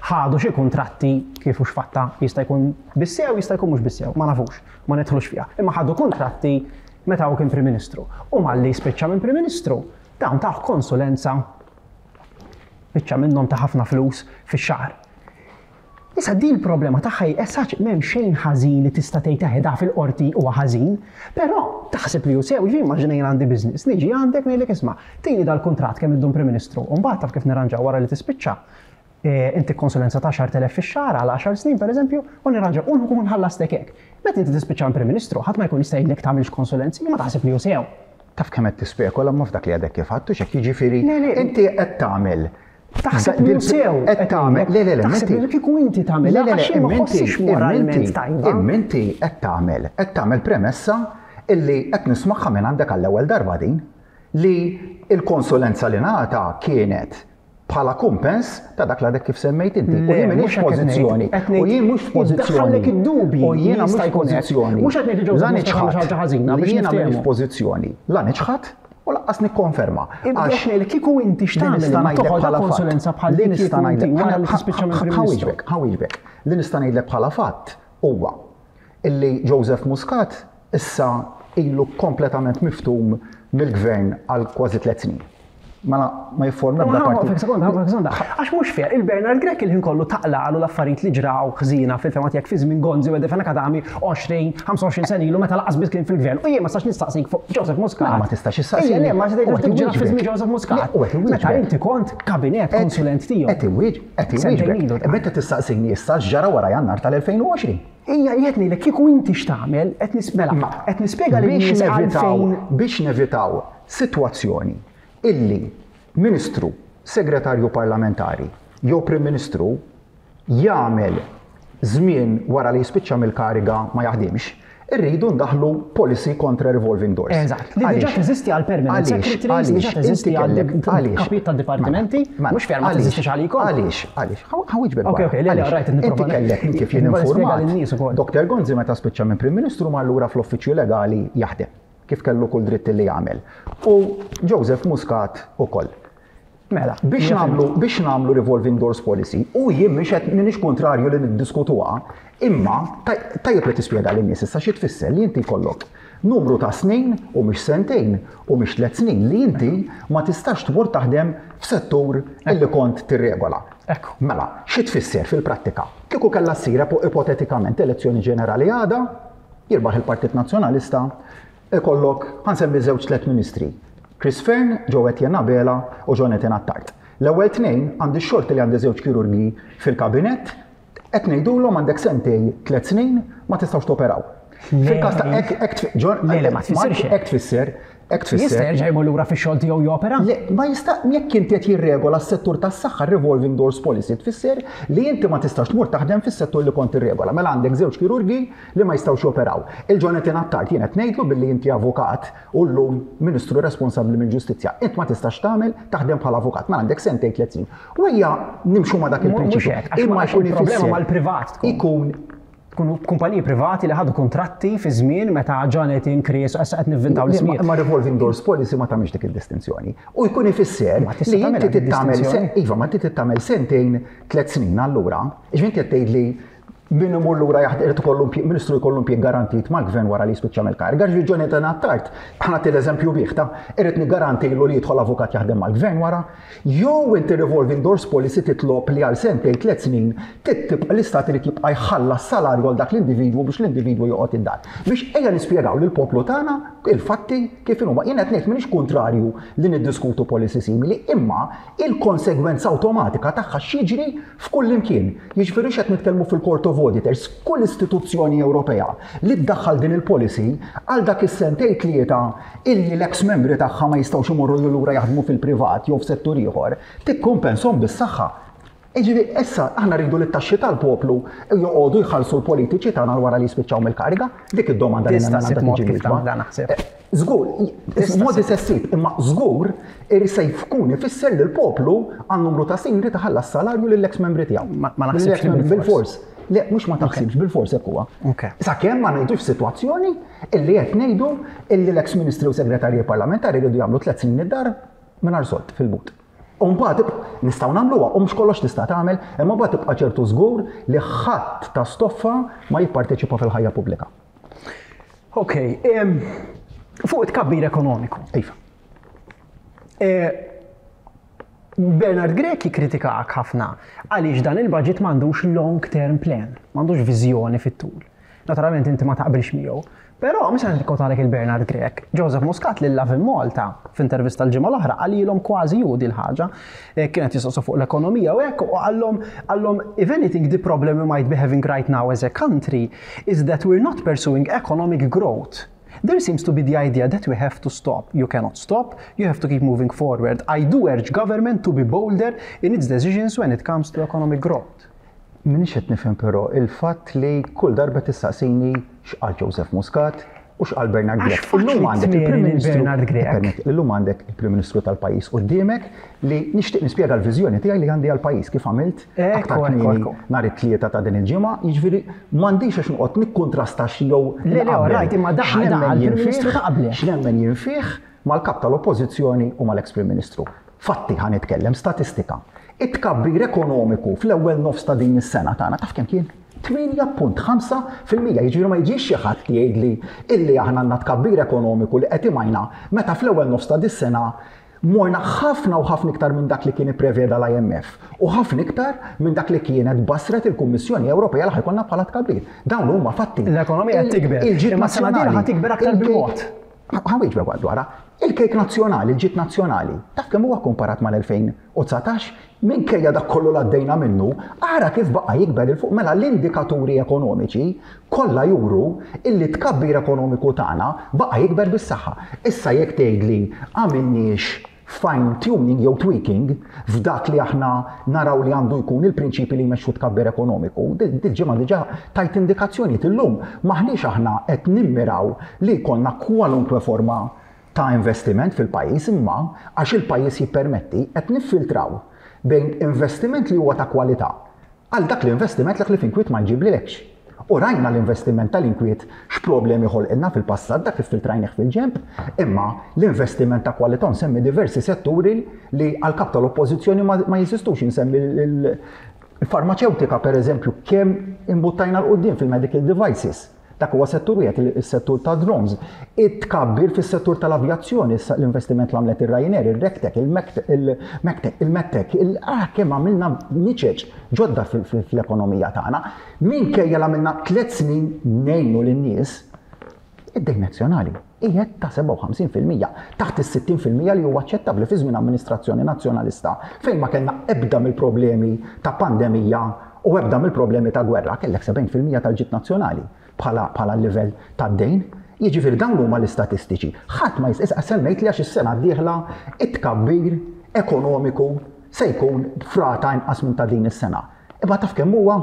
[SPEAKER 1] ħadu xi kuntratti kif hux fatta jista' jkun bis-sew, jista' jkun mhux bis-sew, ma nafux, ma nidħlux fiha. Imma ħadu kuntratti meta hu kien Prim Ministru. U malli spiċċa minn Prim Ministru, dawn taħ konsulenza biċċa minnhom ta' ħafna flus fix-xahar. Issa din il-problema tagħha essaċ m'hemm xejn ħażin li tista' tgħid teħedha fil-qorti huwa ħażin, però taħseb li hu sew, ġi immaġina jien għandi business, niġi għandek ngħidlek isma' tini dal-kuntratt kemm iddum Prim Ministru, u mbagħad taf kif nirranġaw wara li tispiċċa. Inti konsulenza ta' għaxart elef fix-xahar għal għaxar snin pereżempju, u nirranġaw u nkun ħallastek hekk. Meta inti tispiċċa Prim Ministru, ħadd ma jkun jista' jgħidlek tagħmilx konsulenzi, ma taħseb li hu sew.
[SPEAKER 2] Taf kemm qed tispekola ma f'dak li għadek kif għadtu x'hekk jiġifieri inti qed tagħmel.
[SPEAKER 1] Taħseb li sew.
[SPEAKER 2] Qed tagħmel. Le le le.
[SPEAKER 1] Taħseb li kieku inti tagħmel.
[SPEAKER 2] Le le le.
[SPEAKER 1] Ma ħossix moralment tajba.
[SPEAKER 2] Imma inti qed tagħmel, qed tagħmel premessa illi qed nismagħha minn għandek għall-ewwel darba din li l-konsulenza li ngħata kienet bħala kumpens ta' dak l-għadek kif semmejt inti. U jien m'iniex f'pożizzjoni. U jien mhux f'pożizzjoni.
[SPEAKER 1] Id-dubji.
[SPEAKER 2] U jiena mhux f'pożizzjoni.
[SPEAKER 1] Mhux qed ngħid
[SPEAKER 2] La niċħad.
[SPEAKER 1] Ħażina biex
[SPEAKER 2] Jiena m'iniex
[SPEAKER 1] niftehmu.
[SPEAKER 2] f'pożizzjoni. La niċħad u lanqas nikkonferma.
[SPEAKER 1] Għax li kieku inti x'tagħmel
[SPEAKER 2] nista' ngħidlek
[SPEAKER 1] toħodha
[SPEAKER 2] bħala fatt.
[SPEAKER 1] konsulenza bħal
[SPEAKER 2] Li
[SPEAKER 1] li
[SPEAKER 2] nista'
[SPEAKER 1] kieku inti
[SPEAKER 2] ngħidlek
[SPEAKER 1] wara li tispiċċa minn Prim Ministru.
[SPEAKER 2] Ħa nwieġbek, ħa nwieġbek. Li nista' ngħidlek bħala fatt huwa illi Joseph Muscat issa ilu kompletament miftum mill-gvern għal kważi tliet snin. Mela ma jifforma ebda parti.
[SPEAKER 1] Sekonda, sekonda. Għax mhux fair, il-Bernard Grech il-ħin kollu taqlaqalu l-affarijiet li ġraw ħżina fil-fema tiegħek fi żmien Gonzi u Fenech Adami għoxrin, ħamsa u għoxrin sena ilu meta laqas biss kien fil-gvern. U jien ma stax nistaqsik fuq Joseph Muscat.
[SPEAKER 2] Mela ma tistax issaqsini.
[SPEAKER 1] Ejja, le, ma
[SPEAKER 2] U
[SPEAKER 1] tistax
[SPEAKER 2] qed
[SPEAKER 1] ġra fi żmien
[SPEAKER 2] iwieġbek.
[SPEAKER 1] Joseph Muscat.
[SPEAKER 2] Le, u qed
[SPEAKER 1] Meta
[SPEAKER 2] iwieġbek.
[SPEAKER 1] inti kont kabinet konsulent tiegħu.
[SPEAKER 2] Qed iwieġ, qed
[SPEAKER 1] Sentejn
[SPEAKER 2] iwieġbek.
[SPEAKER 1] ilu.
[SPEAKER 2] Meta tistaqsini issa x'ġara wara Jannar tal-elfejn u għoxrin.
[SPEAKER 1] Ija, qed ngħidlek kieku inti x'tagħmel, qed nismela, qed nispjega lin
[SPEAKER 2] Biex
[SPEAKER 1] nies
[SPEAKER 2] nevitaw,
[SPEAKER 1] għalfejn
[SPEAKER 2] biex nevitaw sitwazzjoni illi ministru, segretarju parlamentari jew prim ministru jagħmel żmien wara li jispiċċa mill-kariga ma jaħdimx, irridu ndaħlu policy kontra revolving doors.
[SPEAKER 1] Eżatt, li diġà
[SPEAKER 2] Għaliex?
[SPEAKER 1] teżisti għal permanent
[SPEAKER 2] Għaliex?
[SPEAKER 1] secretaries, diġà
[SPEAKER 2] Għaliex?
[SPEAKER 1] teżisti
[SPEAKER 2] Inti
[SPEAKER 1] għal
[SPEAKER 2] kellek- għaliex?
[SPEAKER 1] kapijiet tad-dipartimenti,
[SPEAKER 2] Mela,
[SPEAKER 1] mhux fair ma
[SPEAKER 2] għaliex?
[SPEAKER 1] teżistix għalikom.
[SPEAKER 2] Għaliex? Għaliex? Ħa nwieġbek
[SPEAKER 1] Ok,
[SPEAKER 2] wara.
[SPEAKER 1] ok, le, le,
[SPEAKER 2] Għaliex?
[SPEAKER 1] right, nipprova
[SPEAKER 2] Inti kellek minn kif jien
[SPEAKER 1] nipprova nispjega
[SPEAKER 2] informat.
[SPEAKER 1] lin-nies ukoll.
[SPEAKER 2] Doktor Gonzi meta spiċċa minn Prim Ministru mar lura fl-uffiċċju legali jaħdem, kif kellu kull dritt li jagħmel. U Joseph Muscat ukoll.
[SPEAKER 1] Mela,
[SPEAKER 2] Biex
[SPEAKER 1] hija
[SPEAKER 2] nagħmlu biex nagħmlu revolving doors policy, u jien mhix qed m'iniex kontrarju li niddiskutuha, imma taj- tajjeb li tispjega lin-nies issa xi tfisser li inti jkollok numru ta' snin u mhix sentejn u mhix tliet snin li inti ma tistax tmur taħdem f'settur illi kont tirregola.
[SPEAKER 1] Ekku.
[SPEAKER 2] Mela, xi tfisser fil-prattika? Kieku kellha ssir ipotetikament elezzjoni ġenerali għada, jirbaħ il-Partit Nazzjonalista, ikollok ħa nsemmi żewġ tliet ministri. Chris Fearne, Jo Etienne Abela u Jonathan Attard. L-ewwel tnejn għandi x-xorti li għandi żewġ kirurgi fil-kabinett, qed ngħidulhom għandek sentejn tliet snin ma tistgħux toperaw. Fil-każ ta' hekk hekk tfi- John-
[SPEAKER 1] Le, le, ma tfissirx hekk.
[SPEAKER 2] Hekk tfisser, hekk
[SPEAKER 1] Jista'
[SPEAKER 2] tfisser.
[SPEAKER 1] jerġa' jmur lura fix-xogħol tiegħu jopera?
[SPEAKER 2] Le, ma jista' jekk inti qed jirregola s-settur tas-saħħa revolving doors policy tfisser li inti ma tistax tmur taħdem fis-settur li kont tirregola. Mela għandek żewġ kirurgi li ma jistgħux joperaw. Il-Jonathan Attard jien qed ngħidlu billi inti avukat u llum ministru responsabbli mill-ġustizzja. Int ma tistax tagħmel taħdem bħala avukat, mela għandek sentejn tliet snin. U ejja nimxu ma dak
[SPEAKER 1] Mhux
[SPEAKER 2] il-prinċipju.
[SPEAKER 1] hekk, għax ma- għax
[SPEAKER 2] jkun
[SPEAKER 1] il-problema
[SPEAKER 2] ifisser-
[SPEAKER 1] mal-privat tkun.
[SPEAKER 2] Ikun
[SPEAKER 1] Tkunu kumpaniji privati li ħadu kontratti fi żmien meta Jonathan, Chris, issa qed nivvintaw l-ismijiet.
[SPEAKER 2] Ma revolving doors policy ma tagħmilx dik id-distinzjoni. U jkun ifisser
[SPEAKER 1] Ma tista'
[SPEAKER 2] li
[SPEAKER 1] tagħmilha
[SPEAKER 2] inti
[SPEAKER 1] dik
[SPEAKER 2] tittamel
[SPEAKER 1] id-distinzjoni.
[SPEAKER 2] iva, ma inti tittamel sentejn tliet snin allura, jiġifieri inti qed tgħid li min imur lura jaħdem irid ikollu impjieg- ministru jkollu impjieg garantit mal-gvern wara li jispiċċa mill-kariga. Ġifieri Jonathan Attard, ħa nagħti l-eżempju bih ta' irid niggarantilu li jidħol avukat jaħdem mal-gvern wara, jew inti revolving doors policy titlob li għal sentejn tliet snin titibqa' l-istat irid jibqa' jħallas salarju għal dak l-individwu biex l-individwu joqgħod id-dar. Biex ejja nispjegaw lill-poplu tagħna il-fatti kif inhuma. Jien qed ngħid m'iniex kontrarju li niddiskutu policy simili, imma il-konsegwenza awtomatika tagħha x'jiġri f'kull imkien. Jiġifieri x'qed nitkellmu fil-Court of Auditors, kull istituzzjoni Ewropea li ddaħħal din il-policy għal dak is-sentejn tlieta illi l-ex membri tagħha ma jistgħux imorru lura jaħdmu fil-privat jew f'settur ieħor, tikkumpenshom bis-saħħa. Jiġifieri, issa aħna rridu li t-taxxi tal-poplu joqogħdu jħallsu l-politiċi tagħna wara li jispiċċaw mill-kariga, dik id-domanda li
[SPEAKER 1] Tista'
[SPEAKER 2] għandna
[SPEAKER 1] ssib mod
[SPEAKER 2] tiġi
[SPEAKER 1] kif
[SPEAKER 2] mieġba.
[SPEAKER 1] tagħmel dan naħseb.
[SPEAKER 2] Żgur, modi se ssib, imma żgur se jkun ifisser li l-poplu għal numru ta' snin irid iħallas salarju lill-ex membri tiegħu.
[SPEAKER 1] Ma naħsibx li
[SPEAKER 2] bil-fors. Le, mhux ma taħsibx, bil-fors hekk huwa. Sakemm ma ngħidux sitwazzjoni illi qed ngħidu illi l-ex ministri u segretarji parlamentari jridu jagħmlu tliet snin id-dar mingħajr sold fil-but. U mbagħad nistgħu nagħmluha u mhux kollox tista' tagħmel, imma mbagħad tibqa' ċertu żgur li ħadd ta' stoffa ma jipparteċipa fil-ħajja pubblika.
[SPEAKER 1] Ok, fuq it-tkabbir ekonomiku.
[SPEAKER 2] Iva.
[SPEAKER 1] Bernard Grech jikkritikak ħafna għaliex dan il-budget m'għandux long term plan, m'għandux viżjoni fit-tul. Naturalment inti ma taqbilx miegħu, però mhux se nikkotalek il-Bernard Grech. Joseph Muscat lil Lovin Malta f'intervista l-ġimgħa l-oħra qalilhom kważi ju di l-ħaġa. Kienet jistaqsu fuq l-ekonomija u hekk u qallhom qallhom if anything, the problem we might be having right now as a country is that we're not pursuing economic growth. There seems to be the idea that we have to stop. You cannot stop, you have to keep moving forward. I do urge government to be bolder in its decisions when it comes to economic growth.
[SPEAKER 2] M'iniex qed nifhem però il-fatt li kull darba tistaqsini x'qal Joseph Muscat u x'qal Bernard Grech.
[SPEAKER 1] Illum għandek il-Prim Ministru Bernard Grech.
[SPEAKER 2] Illum għandek il-Prim Ministru tal-pajjiż quddiemek li nixtieq nispjega l-viżjoni tiegħi li għandi għall-pajjiż kif għamilt aktar kmieni nhar it-Tlieta ta' din il-ġimgħa, jiġifieri m'għandix għax noqgħod nikkuntrasta jew
[SPEAKER 1] Le, le, right, imma daħal il-Prim Ministru ta' qabel.
[SPEAKER 2] X'nemmen jien fih mal-kap tal-Oppożizzjoni u mal-ex Prim Ministru. Fatti ħa nitkellem, statistika. It-tkabbir ekonomiku fl-ewwel nofs ta' din is-sena tagħna taf kemm kien? tmienja punt ħamsa fil-mija, jiġifieri ma jiġix xi ħadd jgħidli illi aħna għandna tkabbir ekonomiku li qed imajna meta fl-ewwel nofs ta' dis-sena morna ħafna u ħafna iktar minn dak li kien ippreveda l-I M F u ħafna iktar minn dak li kienet basret il-Kummissjoni Ewropea li ħa jkollna bħala tkabbir. Dawn huma fatti.
[SPEAKER 1] L-ekonomija qed tikber. Imma sena dieħla ħa tikber aktar bil-mod.
[SPEAKER 2] Ħa nwieġbek dwarha. Il-kejk nazzjonali, il-ġid nazzjonali, taf kemm huwa komparat mal-elfejn u dsatax? Minkejja dak kollu l għaddejna minnu, ara kif baqa' jikber 'il fuq. Mela l-indikaturi ekonomiċi kollha juru illi tkabbir ekonomiku tagħna baqa' jikber bis-saħħa. Issa jekk tgħidli għamilniex fine tuning jew tweaking f'dak li aħna naraw li għandu jkun il-prinċipi li jmexxu tkabbir ekonomiku, dil-ġimgħa diġà tajt indikazzjoni illum maħniex aħna qed nimmiraw li jkollna kwalunkwe forma ta' investiment fil-pajjiż, imma għax il-pajjiż jippermetti qed niffiltraw bejn investiment li huwa ta' kwalità għal dak l-investiment li f'inkwiet ma jġiblilekx. U rajna l-investiment tal-inkwiet x'problemi ħolqilna fil-passat, dak iffiltrajnih fil-ġemp, imma l-investiment ta' kwalità, nsemmi diversi setturi li għal-kap tal-oppożizzjoni ma jeżistux, nsemmi il-farmaceutika per eżempju, kemm imbuttajna 'l quddiem fil-medical devices. Dak huwa settur wieħed, is-settur ta' drones. It-tkabbir fis-settur tal-avjazzjoni, l-investiment li għamlet ir-Ryanair, ir-Rectech, il-Mectech, il-Medtech, ah, kemm għamilna niċeċ ġodda fl-ekonomija tagħna. Minkejja l għamilna tliet snin ngħinu lin-nies, id-dejn nazzjonali qiegħed ta' sebgħa u ħamsin fil-mija, taħt is-sittin fil-mija li huwa aċċettabbli fi żmien amministrazzjoni nazzjonalista fejn ma kellna ebda mill-problemi ta' pandemija u ebda mill-problemi ta' gwerra, kellek sebgħin fil-mija tal-ġid nazzjonali bħala bħala livell tad-dejn. Jiġifieri dawn huma l-istatistiċi. Ħadd ma jista' semmejt li għax is-sena d-dieħla it-tkabbir ekonomiku se jkun frata inqas minn ta' din is-sena. Imma taf kemm huwa?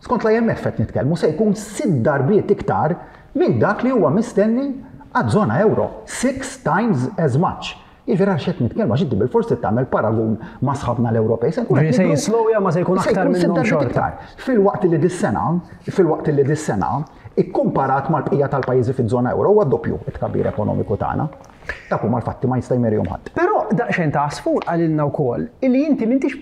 [SPEAKER 2] Skont l-I M F qed nitkellmu, se jkun sitt darbiet iktar minn dak li huwa mistenni għaż-żona euro. Six times as much. Jiġifieri għax qed nitkellmu, għax inti bil-forsi tagħmel paragun ma' sħabna l-Ewropej.
[SPEAKER 1] Se se jislowja ma se jkun aktar minnhom xorta.
[SPEAKER 2] Filwaqt li dis-sena, filwaqt li dis-sena, ikkumparat mal-bqija tal-pajjiżi fiż-żona euro huwa doppju it-tkabbir ekonomiku tagħna. Dak huma l-fatti, ma jista' jmerihom ħadd.
[SPEAKER 1] Però daqsxejn ta' għasfur qalilna wkoll illi inti m'intix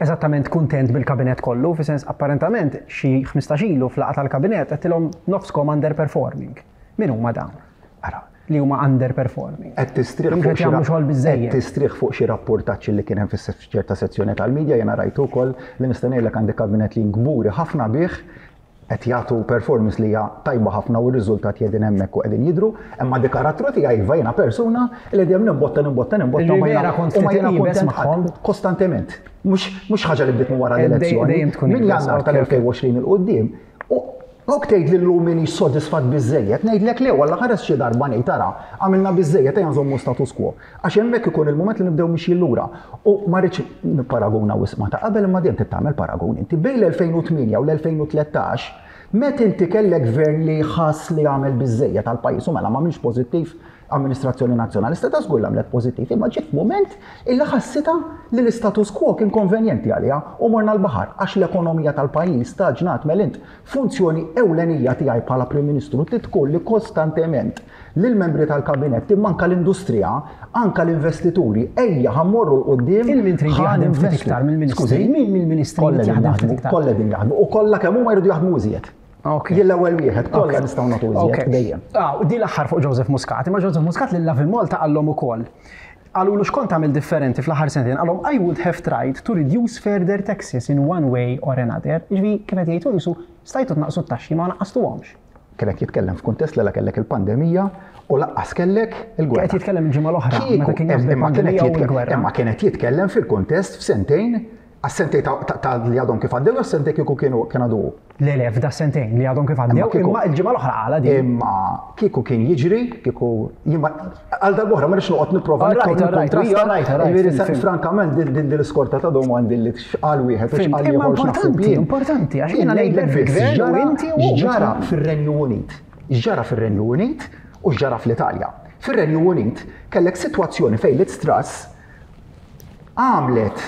[SPEAKER 1] eżattament kuntent bil-kabinet kollu, fi sens apparentament xi ħmistax ilu fl-laqgħa tal-kabinet għedtilhom nofskom underperforming. Min huma dawn?
[SPEAKER 2] Ara,
[SPEAKER 1] li huma underperforming.
[SPEAKER 2] Qed tistrieħ
[SPEAKER 1] Mhux
[SPEAKER 2] fuq
[SPEAKER 1] qed
[SPEAKER 2] xi
[SPEAKER 1] jagħmlu
[SPEAKER 2] ra-
[SPEAKER 1] xogħol biżejjed.
[SPEAKER 2] Qed tistrieħ fuq xi rapportaġġi li kien hemm fis-ċerta sezzjoni tal-medja, jiena rajtu wkoll li nista' ngħidlek għandi kabinet li kburi ħafna bih, qed jagħtu performance li hija tajba ħafna u r-riżultati qegħdin hemmhekk u qegħdin jidhru, imma di karattru tiegħi iva, jiena persuna li dejjem nimbotta, nimbotta, nimbotta
[SPEAKER 1] Li
[SPEAKER 2] u ma jiena-
[SPEAKER 1] vera kont
[SPEAKER 2] u ma
[SPEAKER 1] ftit
[SPEAKER 2] jiena
[SPEAKER 1] iebes
[SPEAKER 2] kuntent
[SPEAKER 1] magħhom.
[SPEAKER 2] ħadd, kostantement. Mhux mhux ħaġa li bdiet minn wara
[SPEAKER 1] Eh, dej-
[SPEAKER 2] l-elezzjoni.
[SPEAKER 1] Dejjem tkun
[SPEAKER 2] Minn
[SPEAKER 1] iebes,
[SPEAKER 2] Jannar
[SPEAKER 1] ok,
[SPEAKER 2] tal-elfejn u għoxrin 'il quddiem. U Ok tgħid li llum minix sodisfatt biżejjed, ngħidlek le, walla ħares xi darba ngħid tara, għamilna biżejjed, ejja nżommu status quo. Għax hemmhekk ikun il-mument li nibdew mixjin lura. U ma rridx nipparaguna wisq ma ta' qabel, imma dejjem trid tagħmel paragun. Inti bejn l-elfejn u tmienja u l-elfejn u tlettax, meta inti kellek gvern li ħass li għamel biżejjed tal-pajjiż u mela ma minx pożittiv amministrazzjoni nazzjonalista ta' żgur għamlet pożittiv, imma ġiet f'mument illi ħassitha li l-istatus quo kien konvenjenti għaliha u morna l-baħar għax l-ekonomija tal-pajjiż staġnat. Mela int, funzjoni ewlenija tiegħi bħala Prim Ministru trid tkun li kostantement lill-membri tal-kabinett, imma anka l-industrija, anka l-investituri, ejja ħa mmorru 'l quddiem.
[SPEAKER 1] Il-min trid
[SPEAKER 2] ħa
[SPEAKER 1] jaħdem ftit
[SPEAKER 2] ninvestu.
[SPEAKER 1] iktar mill-ministri?
[SPEAKER 2] Skużi?
[SPEAKER 1] Min mill-ministri
[SPEAKER 2] Kollha
[SPEAKER 1] jrid
[SPEAKER 2] qegħdin
[SPEAKER 1] jaħdem ftit
[SPEAKER 2] jaħdmu,
[SPEAKER 1] iktar?
[SPEAKER 2] kollha qegħdin jaħdmu u kollha kemm huma jridu jaħdmu iżjed.
[SPEAKER 1] Ok.
[SPEAKER 2] Jien l-ewwel wieħed, kollha nistgħu nagħtu iżjed dejjem.
[SPEAKER 1] Ah, u di l-aħħar fuq Joseph Muscat, imma Joseph Muscat lil Lovin Malta qallhom ukoll. Qalulu x'kont tagħmel differenti fl-aħħar sentejn, qallhom "I would have tried to reduce further taxes in one way or another." Jiġifieri kif qed jgħidu jisu stajtu tnaqsu t-taxxi ma naqqastuhomx.
[SPEAKER 2] Kienet jitkellem f'kuntest li la kellek il-pandemija u lanqas kellek il-gwerra.
[SPEAKER 1] Qed jitkellem il-ġimgħa l-oħra,
[SPEAKER 2] Kieku-
[SPEAKER 1] meta kien jaf
[SPEAKER 2] imma kienet
[SPEAKER 1] bil-pandemija u
[SPEAKER 2] jitkellem-
[SPEAKER 1] l-gwerra.
[SPEAKER 2] Imma kienet jitkellem fil-kuntest f'sentejn, għas-sentejn ta- ta- ta' li għadhom kif għaddew, għas-sentejn kieku kienu kien għadu.
[SPEAKER 1] Le le, f'da sentejn li għadhom kif għaddew,
[SPEAKER 2] Imma kieku-
[SPEAKER 1] imma il-ġimgħa l-oħra qala din.
[SPEAKER 2] Imma kieku kien jiġri, kieku jimma għal darb'oħra ma rridx noqgħod nipprova
[SPEAKER 1] All right, all right,
[SPEAKER 2] nikkontrasta.
[SPEAKER 1] all right, all right,
[SPEAKER 2] Jiġifieri,
[SPEAKER 1] fim, fim.
[SPEAKER 2] Frankament din din l-iskorta ta' domandi li x'qal wieħed u
[SPEAKER 1] Fim,
[SPEAKER 2] x'qal
[SPEAKER 1] imma
[SPEAKER 2] ieħor x'naħseb
[SPEAKER 1] importanti,
[SPEAKER 2] jien.
[SPEAKER 1] importanti, għax
[SPEAKER 2] Jien
[SPEAKER 1] jiena
[SPEAKER 2] ngħidlek
[SPEAKER 1] ngħidlek
[SPEAKER 2] biss,
[SPEAKER 1] fil-gvern u
[SPEAKER 2] x'ġara-
[SPEAKER 1] inti u
[SPEAKER 2] x'ġara fir-Renju Unit. X'ġara fir-Renju Unit u x'ġara fl-Italja. Fir-Renju Unit kellek sitwazzjoni fejn Liz Truss għamlet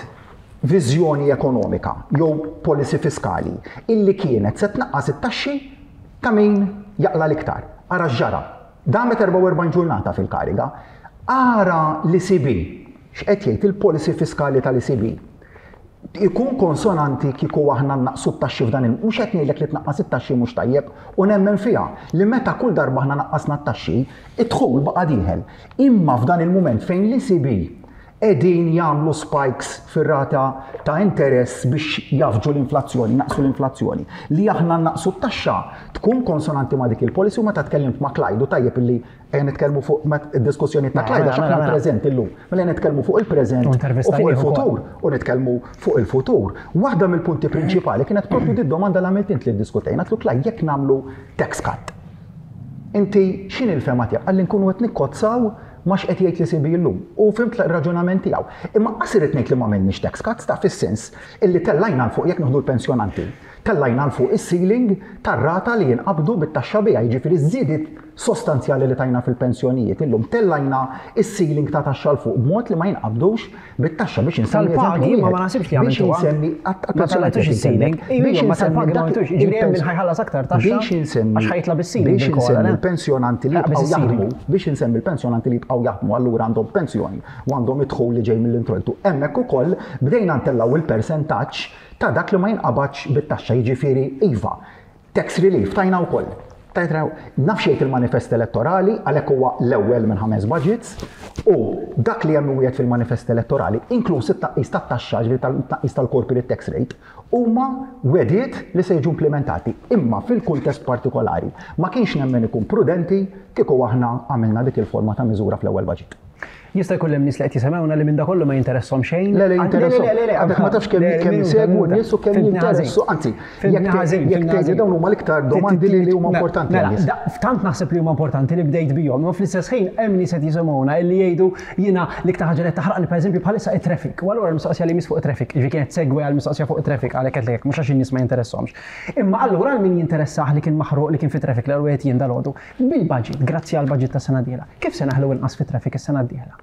[SPEAKER 2] viżjoni ekonomika jew policy fiskali illi kienet se tnaqqas it-taxxi ta' min jaqla l-iktar. Ara x'ġara. Damet erbgħa u erbgħin ġurnata fil-kariga. Ara l-E C B, x'qed jgħid il-policy fiskali tal-E C B. Ikun konsonanti kieku aħna naqsu t-taxxi f'dan il mhux qed ngħidlek li tnaqqas it-taxxi mhux tajjeb u nemmen fiha li meta kull darba aħna naqqasna t-taxxi, id-dħul baqa' dieħel. Imma f'dan il-mument fejn l-E C B qegħdin jagħmlu spikes fir-rata ta' interess biex jafġu l-inflazzjoni, naqsu l-inflazzjoni. Li aħna naqsu t-taxxa tkun konsonanti ma' dik il-policy. U meta tkellimt ma' Clyde, u tajjeb illi ejja nitkellmu fuq id-diskussjoni ta' Clyde
[SPEAKER 1] Mela,
[SPEAKER 2] għax aħna
[SPEAKER 1] mela, mela.
[SPEAKER 2] preżent illum. Mela nitkellmu fuq il-preżent
[SPEAKER 1] U
[SPEAKER 2] u
[SPEAKER 1] intervistajnieh
[SPEAKER 2] fuq
[SPEAKER 1] ukoll.
[SPEAKER 2] il-futur u nitkellmu fuq il-futur. Waħda mill-punti prinċipali kienet propju di domanda li għamilt int li ddiskutejna. Għedtlu, "Clyde, jekk nagħmlu tax cut, inti x'inhi l-fehma tiegħek?" Qalli nkunu qed nikkozzaw ma x'qed jgħid l-E C B llum. U fhimt l-raġunament tiegħu. Imma qas irid ngħid li ma għamilniex tax cuts ta' fis-sens illi tellajna 'l fuq, jekk nieħdu l-pensjonanti. Tellajna 'l fuq is-ceiling tar-rata li jinqabdu bit-taxxa biha, jiġifieri żidiet sostanzjali li tajna fil-pensjonijiet. Illum tellajna is-ceiling ta' taxxa 'l fuq b'mod li ma jinqabdux bit-taxxa biex insemmi
[SPEAKER 1] Tal-pagi,
[SPEAKER 2] eżempju
[SPEAKER 1] ma ma
[SPEAKER 2] wieħed.
[SPEAKER 1] naħsibx li
[SPEAKER 2] Biex
[SPEAKER 1] għamiltuha.
[SPEAKER 2] insemmi
[SPEAKER 1] Ma tellajtux is-ceiling. Iju, ma tal-pagi ma għamiltux. Jiġifieri hemm min ħa jħallas aktar taxxa
[SPEAKER 2] Biex insemmi
[SPEAKER 1] għax ħa jitla' bis-ceiling
[SPEAKER 2] biex
[SPEAKER 1] bil-kola,
[SPEAKER 2] insemmi
[SPEAKER 1] le?
[SPEAKER 2] l-pensjonanti li
[SPEAKER 1] Ħa
[SPEAKER 2] jibqgħu
[SPEAKER 1] bis-ceiling.
[SPEAKER 2] jaħdmu, biex insemmi l-pensjonanti li jibqgħu jaħdmu, allura għandhom pensjoni u għandhom idħul li ġej mill-introjtu. Hemmhekk ukoll bdejna ntellgħu il-persentaġġ ta' dak li ma jinqabadx bit-taxxa, jiġifieri iva. Tax relief tajna wkoll. Tajtra, naf xejn il-manifest elettorali, għalhekk huwa l-ewwel minn ħames budgets, u dak li hemm wieħed fil-manifest elettorali, inkluż it-tnaqqis tat-taxxa, ġifieri tal-tnaqqis tal-corporate tax rate, huma wegħdiet li se jiġu implementati. Imma fil-kuntest partikolari ma kienx nemmen ikun prudenti kieku aħna għamilna dik il-forma ta' miżura fl-ewwel budget.
[SPEAKER 1] Jista' jkun hemm nies li qed jisimgħuna li minn da kollu ma jinteresshom xejn.
[SPEAKER 2] Le, le,
[SPEAKER 1] Ah,
[SPEAKER 2] jinteressu.
[SPEAKER 1] Le, le, le,
[SPEAKER 2] Għadek ma tafx kemm
[SPEAKER 1] Le, le,
[SPEAKER 2] kemm
[SPEAKER 1] minuta,
[SPEAKER 2] jsegwu
[SPEAKER 1] minuta.
[SPEAKER 2] n-nies u kemm
[SPEAKER 1] Fhimtni ħażin.
[SPEAKER 2] jinteressu. Anzi,
[SPEAKER 1] Fhimtni
[SPEAKER 2] jekk
[SPEAKER 1] ħażin,
[SPEAKER 2] jekk
[SPEAKER 1] fhimtni
[SPEAKER 2] tgħidi
[SPEAKER 1] ħażin.
[SPEAKER 2] dawn huma l-iktar domandi li li huma importanti
[SPEAKER 1] Mela,
[SPEAKER 2] għan-nies.
[SPEAKER 1] da- tant naħseb li huma importanti li bdejt bihom, imma fl-istess ħin hemm nies qed jisimgħuna illi jgħidu jiena l-iktar ħaġa li taħraqni pereżempju bħalissa it-traffic. U allura l-mistoqsija li miss fuq it-traffic, jiġifieri kienet segwe għal mistoqsija fuq it-traffic għalhekk qed lek mhux għax in-nies ma jinteressahomx. Imma allura għal min jinteressah li kien maħruq li kien fit-traffic l wieħed jien dalgħodu, bil-budget, grazzi għal budget ta' sena dieħla. Kif se naħlu inqas fit-traffic is-sena d-dieħla?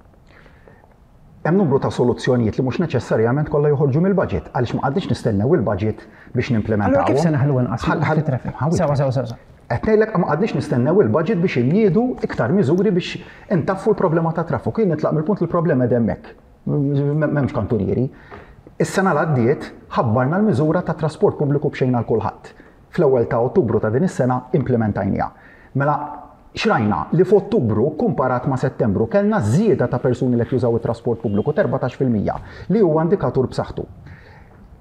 [SPEAKER 2] Hemm numru ta' soluzzjonijiet li mhux neċessarjament kollha joħorġu mill-budget, għaliex ma qgħadniex nistennew il-budget biex nimplementawhom.
[SPEAKER 1] Allura kif se naħlu inqas
[SPEAKER 2] Ħal- ħal-
[SPEAKER 1] fit-traffic?
[SPEAKER 2] ħawit.
[SPEAKER 1] Sewa, sewa, sewa.
[SPEAKER 2] Qed ngħidlek ma qgħadniex nistennew il-budget biex inniedu iktar miżuri biex intaffu l-problema ta' traffiku. Jien nitlaq mill-punt li l-problema qed hemmhekk. M'hemmx kantunieri. Is-sena l għaddiet ħabbarna l-miżura ta' trasport pubbliku b'xejn għal kulħadd. Fl-ewwel ta' Ottubru ta' din is-sena implementajniha. Mela xrajna li f'Ottubru kumparat ma' Settembru kellna żieda ta' persuni li qed jużaw it-trasport pubbliku t'erbatax fil-mija, li huwa indikatur b'saħħtu.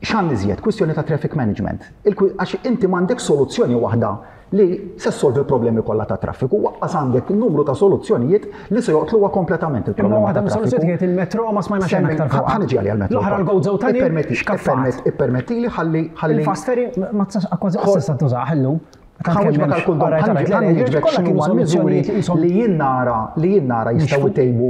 [SPEAKER 2] X'għan iżjed? Kwistjoni ta' traffic management. Il-kwi- Għax inti m'għandek soluzzjoni waħda li se ssolvi l-problemi kollha ta' traffiku, waqqas għandek numru ta' soluzzjonijiet li se joqtluha kompletament
[SPEAKER 1] Imma
[SPEAKER 2] il-problema
[SPEAKER 1] waħda
[SPEAKER 2] ta'
[SPEAKER 1] mis-soluzzjoni
[SPEAKER 2] traffiku.
[SPEAKER 1] kienet il-metro, ma smajna xejn aktar fuq.
[SPEAKER 2] Ħa niġi għalija l-metro.
[SPEAKER 1] L-oħra l-Gozo Tunnel,
[SPEAKER 2] Ippermetti-
[SPEAKER 1] xkaffat.
[SPEAKER 2] Ippermetti li ħalli ħalli
[SPEAKER 1] Il-fast ferry ma tistax kważi qas tista' tużah illum.
[SPEAKER 2] Ħa nwieġbek għal kull domanda, miżuri li jien nara li jien nara jistgħu jtejbu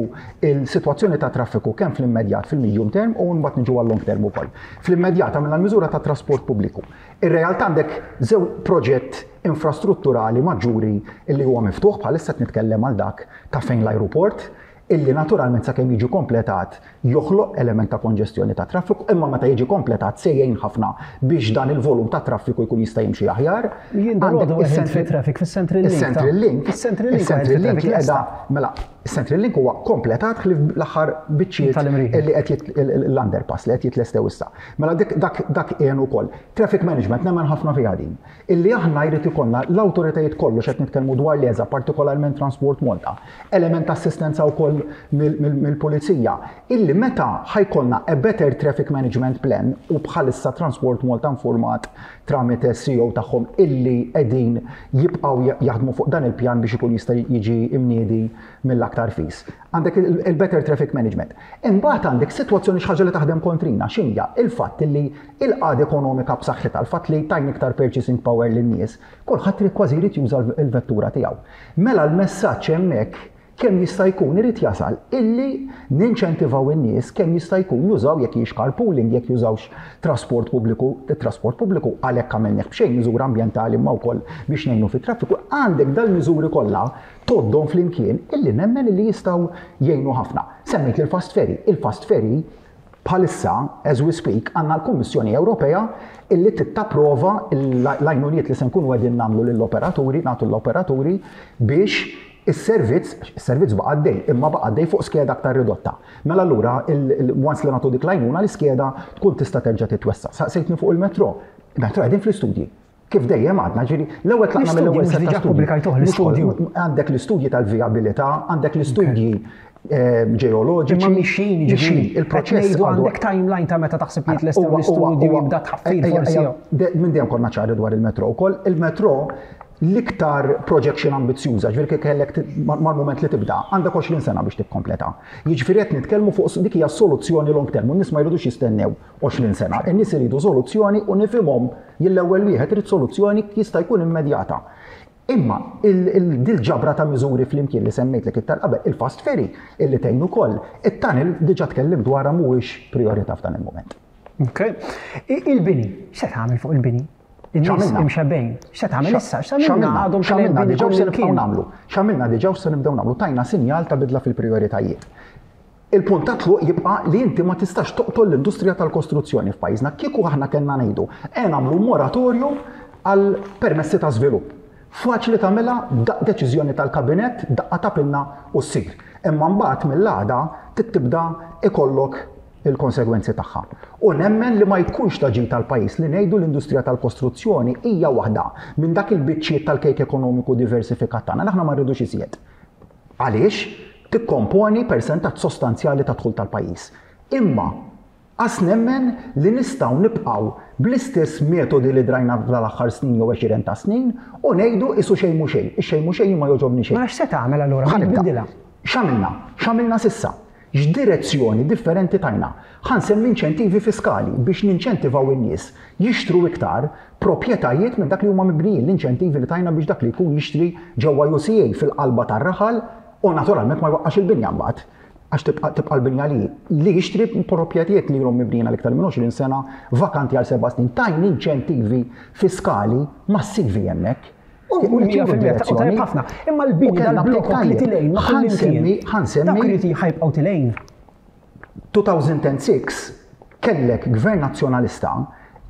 [SPEAKER 2] il-sitwazzjoni ta' traffiku kemm fl-immedjat, fil-medium term, u mbagħad niġu għal long term ukoll. Fl-immedjat għamilna l-miżura ta' trasport pubbliku. Ir-realtà għandek żewġ proġett infrastrutturali maġġuri illi huwa miftuħ bħalissa, qed nitkellem għal dak ta' fejn l-aeroport, illi naturalment sakemm jiġi kompletat joħloq element ta' konġestjoni ta' traffiku, imma meta jiġi kompletat se jgħin ħafna biex dan il-volum ta' traffiku jkun jista' jimxi aħjar.
[SPEAKER 1] Jien dalgħodu fit-traffic fis-Central Link.
[SPEAKER 2] Is-Central Link.
[SPEAKER 1] Is-Central Link.
[SPEAKER 2] Is-Central Link li qiegħda, mela, is-Central Link huwa kompletat ħlief l-aħħar biċċiet li qed l-underpass li qed jitlestew issa. Mela dak dak għen ukoll. Traffic management nemmen ħafna fiha din. Illi aħna jrid ikollna l-awtoritajiet kollu, x'qed nitkellmu dwar l-E S A, partikolarment Transport Malta, element ta' assistenza wkoll mill-pulizija, illi meta ħa jkollna a better traffic management plan, u bħalissa Transport Malta informat tramite C E O tagħhom illi qegħdin jibqgħu jaħdmu fuq dan il-pjan biex ikun jista' jiġi imniedi mill-aktar fis. Għandek il-better traffic management. Imbagħad għandek sitwazzjoni, xi ħaġa li taħdem kontrina, x'inhija? Il-fatt illi il-qagħda ekonomika b'saħħitha, il-fatt li tajna iktar purchasing power lin-nies, kulħadd kważi jrid juża l-vettura tiegħu. Mela l-messaġġ hemmhekk kemm jista' jkun irid jasal illi ninċentivaw in-nies kemm jista' jkun jużaw, jekk hijiex carpooling, jekk jużawx trasport pubbliku, trasport pubbliku għalhekk għamilnieh b'xejn, miżura ambjentali ma wkoll biex ngħinu fit-traffiku. Għandek dal-miżuri kollha toddhom flimkien illi nemmen illi jistgħu jgħinu ħafna. Semmejt il-fast ferry. Il-fast ferry bħalissa, as we speak, għandna l-Kummissjoni Ewropea illi tittapprova l-għajnuniet li se nkunu qegħdin nagħmlu lill-operaturi, nagħtu l-operaturi biex is-servizz, is-servizz baqa' għaddej, imma baqa' għaddej fuq skeda aktar ridotta. Mela allura, once li nagħtu dik l-għajnuna, l-iskeda tkun tista' terġa' titwessa. Saqsejtni fuq il-metro. Il-metro qegħdin fl-istudji. Kif dejjem għadna, ġiri, l-ewwel tlaqna mill-ewwel
[SPEAKER 1] setta studji.
[SPEAKER 2] L-istudju. Għandek l-istudji tal-vijabilità, għandek l-istudji eh, ġeoloġiċi.
[SPEAKER 1] Imma mixin,
[SPEAKER 2] ġifieri,
[SPEAKER 1] il-proċess. Għandek timeline ta' meta taħseb li tlestew l-istudju, jibda tħaffir forsi?
[SPEAKER 2] Minn dejjem konna ċari dwar il-metro wkoll. Il-metro l-iktar projection ambizjuża, ġifieri kellek mal-moment li tibda, għandek għoxrin sena biex tikkompleta. Jiġifieri qed nitkellmu fuq dik hija soluzzjoni long term, u n-nies ma jridux jistennew għoxrin sena. In-nies iridu soluzzjoni u nifhimhom, l-ewwel wieħed irid soluzzjoni jista' jkun immedjata. Imma dil-ġabra ta' miżuri flimkien li semmejtlek iktar qabel, il-fast ferry illi tgħin ukoll, it-tunnel diġà tkellim dwarha, mhuwiex priorità f'dan il-moment.
[SPEAKER 1] Ok. Il-bini, x'se tagħmel fuq il-bini? In-nies imxebbgħin. X'se tagħmel issa?
[SPEAKER 2] X'għamilna għadhom x'għamilna diġà se nibqgħu nagħmlu. X'għamilna diġà se nibdew nagħmlu. Tajna sinjal ta' bidla fil-prijoritajiet. Il-punt ta' tluq jibqa' li inti ma tistax toqtol l-industrija tal-kostruzzjoni f'pajjiżna. Kieku aħna kellna ngħidu, e nagħmlu moratorju għal permessi ta' żvilupp. Faċli tagħmilha, deċiżjoni tal-kabinett, daqqa ta' pinna u ssir. Imma mbagħad mill-għada tibda ikollok il-konsegwenzi tagħha. U nemmen li ma jkunx ta' ġid tal-pajjiż li ngħidu l-industrija tal-kostruzzjoni hija waħda minn dak il-biċċiet tal-kejk ekonomiku diversifikat tagħna. Aħna ma rridux iżjed. Għaliex tikkomponi persentaġġ sostanzjali ta' dħul tal-pajjiż. Imma għas nemmen li nistgħu nibqgħu bl-istess metodi li drajna fl-aħħar snin jew għexieren ta' snin u ngħidu isu xejn mhu xejn, ix-xejn mhu xejn ma jogħġobni xejn.
[SPEAKER 1] Ma x'se tagħmel allura?
[SPEAKER 2] X'għamilna? X'għamilna s'issa? X'direzzjoni differenti tajna? Ħa nsemmi inċentivi fiskali biex ninċentivaw in-nies jixtru iktar proprjetajiet minn dak li huma mibnijin, l-inċentivi li tajna biex dak li jkun jixtri ġewwa U C A fil-qalba tar-raħal u naturalment ma jwaqqax il-binja mbagħad għax tibqa' tibqa' l-binja li li jixtri proprjetajiet li ilhom mibnijin għal iktar minn għoxrin sena vakanti għal seba' snin. Tajna inċentivi fiskali massivi hemmhekk.
[SPEAKER 1] U mija fil-mija ta' tajjeb ħafna. Imma l-bini dal-blokok li tilgħin ma'
[SPEAKER 2] Ħa nsemmi, ħa nsemmi.
[SPEAKER 1] Dawk irid ħa jibqgħu tilgħin.
[SPEAKER 2] elfejn u sitta kellek gvern nazzjonalista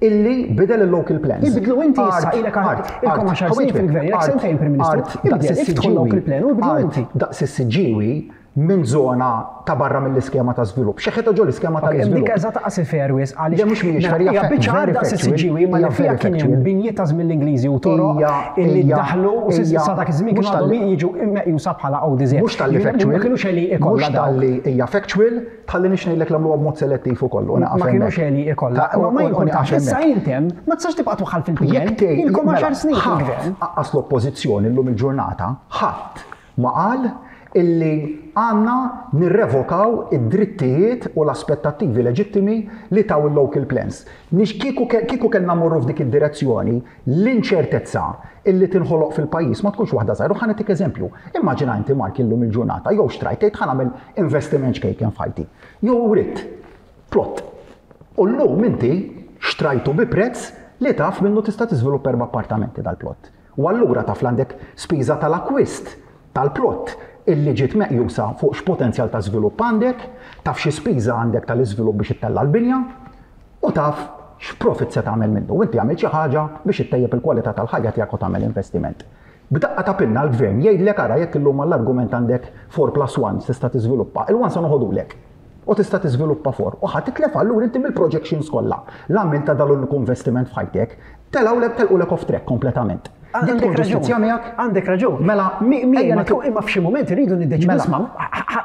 [SPEAKER 2] illi bidel il-local plans.
[SPEAKER 1] Ibidlu inti issa, ilek ilkom għaxar snin fil-gvern, ilek sentejn Prim Ministru. Ibdel, iftħu local plan u ibidlu inti.
[SPEAKER 2] Daqs is-Siġġiewi minn zona ta' barra mill-iskema ta' żvilupp. Xeħetha ġo l-iskema ta'
[SPEAKER 1] Dik
[SPEAKER 2] iżvilupp.
[SPEAKER 1] Eżatt qas fairways għaliex.
[SPEAKER 2] Le, mhux mhijiex fair, hija
[SPEAKER 1] hija biċċa
[SPEAKER 2] very
[SPEAKER 1] daqs
[SPEAKER 2] factual.
[SPEAKER 1] is-Siġġiewi ma li
[SPEAKER 2] Hija
[SPEAKER 1] fiha
[SPEAKER 2] very
[SPEAKER 1] kien hemm
[SPEAKER 2] factual.
[SPEAKER 1] binjiet ta' żmien l-Ingliżi u toroq
[SPEAKER 2] Hija-
[SPEAKER 1] illi
[SPEAKER 2] hija-
[SPEAKER 1] daħlu u
[SPEAKER 2] hija-
[SPEAKER 1] sa dak iż-żmien
[SPEAKER 2] mhux
[SPEAKER 1] kienu għadhom
[SPEAKER 2] tal-li-
[SPEAKER 1] jiġu meqjusa bħala O D Z.
[SPEAKER 2] Mhux talli factual.
[SPEAKER 1] Ma kienux għeli ikollha
[SPEAKER 2] Mhux
[SPEAKER 1] dawk.
[SPEAKER 2] talli hija factual, tħalli nix ngħidlek l-għamluha b'mod selettiv ukoll. u
[SPEAKER 1] Ma
[SPEAKER 2] naqaf
[SPEAKER 1] kienux
[SPEAKER 2] hemmhekk.
[SPEAKER 1] għeli ikollha.
[SPEAKER 2] Ta'
[SPEAKER 1] Ma ma
[SPEAKER 2] u- u
[SPEAKER 1] jimpurtax.
[SPEAKER 2] nieqaf
[SPEAKER 1] Issa
[SPEAKER 2] hemmhekk.
[SPEAKER 1] intem ma tistax tibqa' twaħħal fil-P N.
[SPEAKER 2] Jekk tgħid
[SPEAKER 1] Ilkom
[SPEAKER 2] mela,
[SPEAKER 1] għaxar snin
[SPEAKER 2] ħadd,
[SPEAKER 1] fil-gvern.
[SPEAKER 2] Aqqas l-oppożizzjoni llum il-ġurnata, ħadd ma qal Illi għandna nirrevokaw id-drittijiet u l-aspettattivi leġittimi li taw il-local plans. Nix kieku kieku kellna morru f'dik id-direzzjoni, l-inċertezza illi tinħoloq fil-pajjiż ma tkunx waħda żgħira. Ħa nagħtik eżempju. Immaġina inti, Mark, illum il-ġurnata, jew xtrajt, tgħid ħa nagħmel investiment ċkejken f'ħajti. Jew ridt plot. U llum inti xtrajtu bi prezz li taf minnu tista' tiżviluppa erba' appartamenti dal-plot. U allura taf l għandek spiża tal-akwist tal-plot illi ġiet meqjusa fuq x'potenzjal ta' żvilupp għandek, taf xi spiża għandek tal-iżvilupp biex ittella' l-binja u taf x'profit se tagħmel minnu. U inti għamilt xi ħaġa biex ittejjeb il-kwalità tal-ħajja tiegħek u tagħmel investiment. B'daqqa ta' pinna l-gvern jgħidlek, ara, jekk illum għall-argument għandek four plus one tista' tiżviluppa, il-one se noħodulek u tista' tiżviluppa four. U ħa titlef allura inti mill-projections kollha. L-għamil ta' dal-uniku investiment f'ħajtek, telgħulek telqulek off track kompletament. Dik tkun
[SPEAKER 1] Għandek raġun.
[SPEAKER 2] ġustizzja miegħek?
[SPEAKER 1] Għandek raġun.
[SPEAKER 2] Mela,
[SPEAKER 1] Mi, mi,
[SPEAKER 2] ejja
[SPEAKER 1] ma
[SPEAKER 2] nitu-
[SPEAKER 1] tkun- imma f'xi moment irridu niddeċidu,
[SPEAKER 2] Mela.
[SPEAKER 1] isma',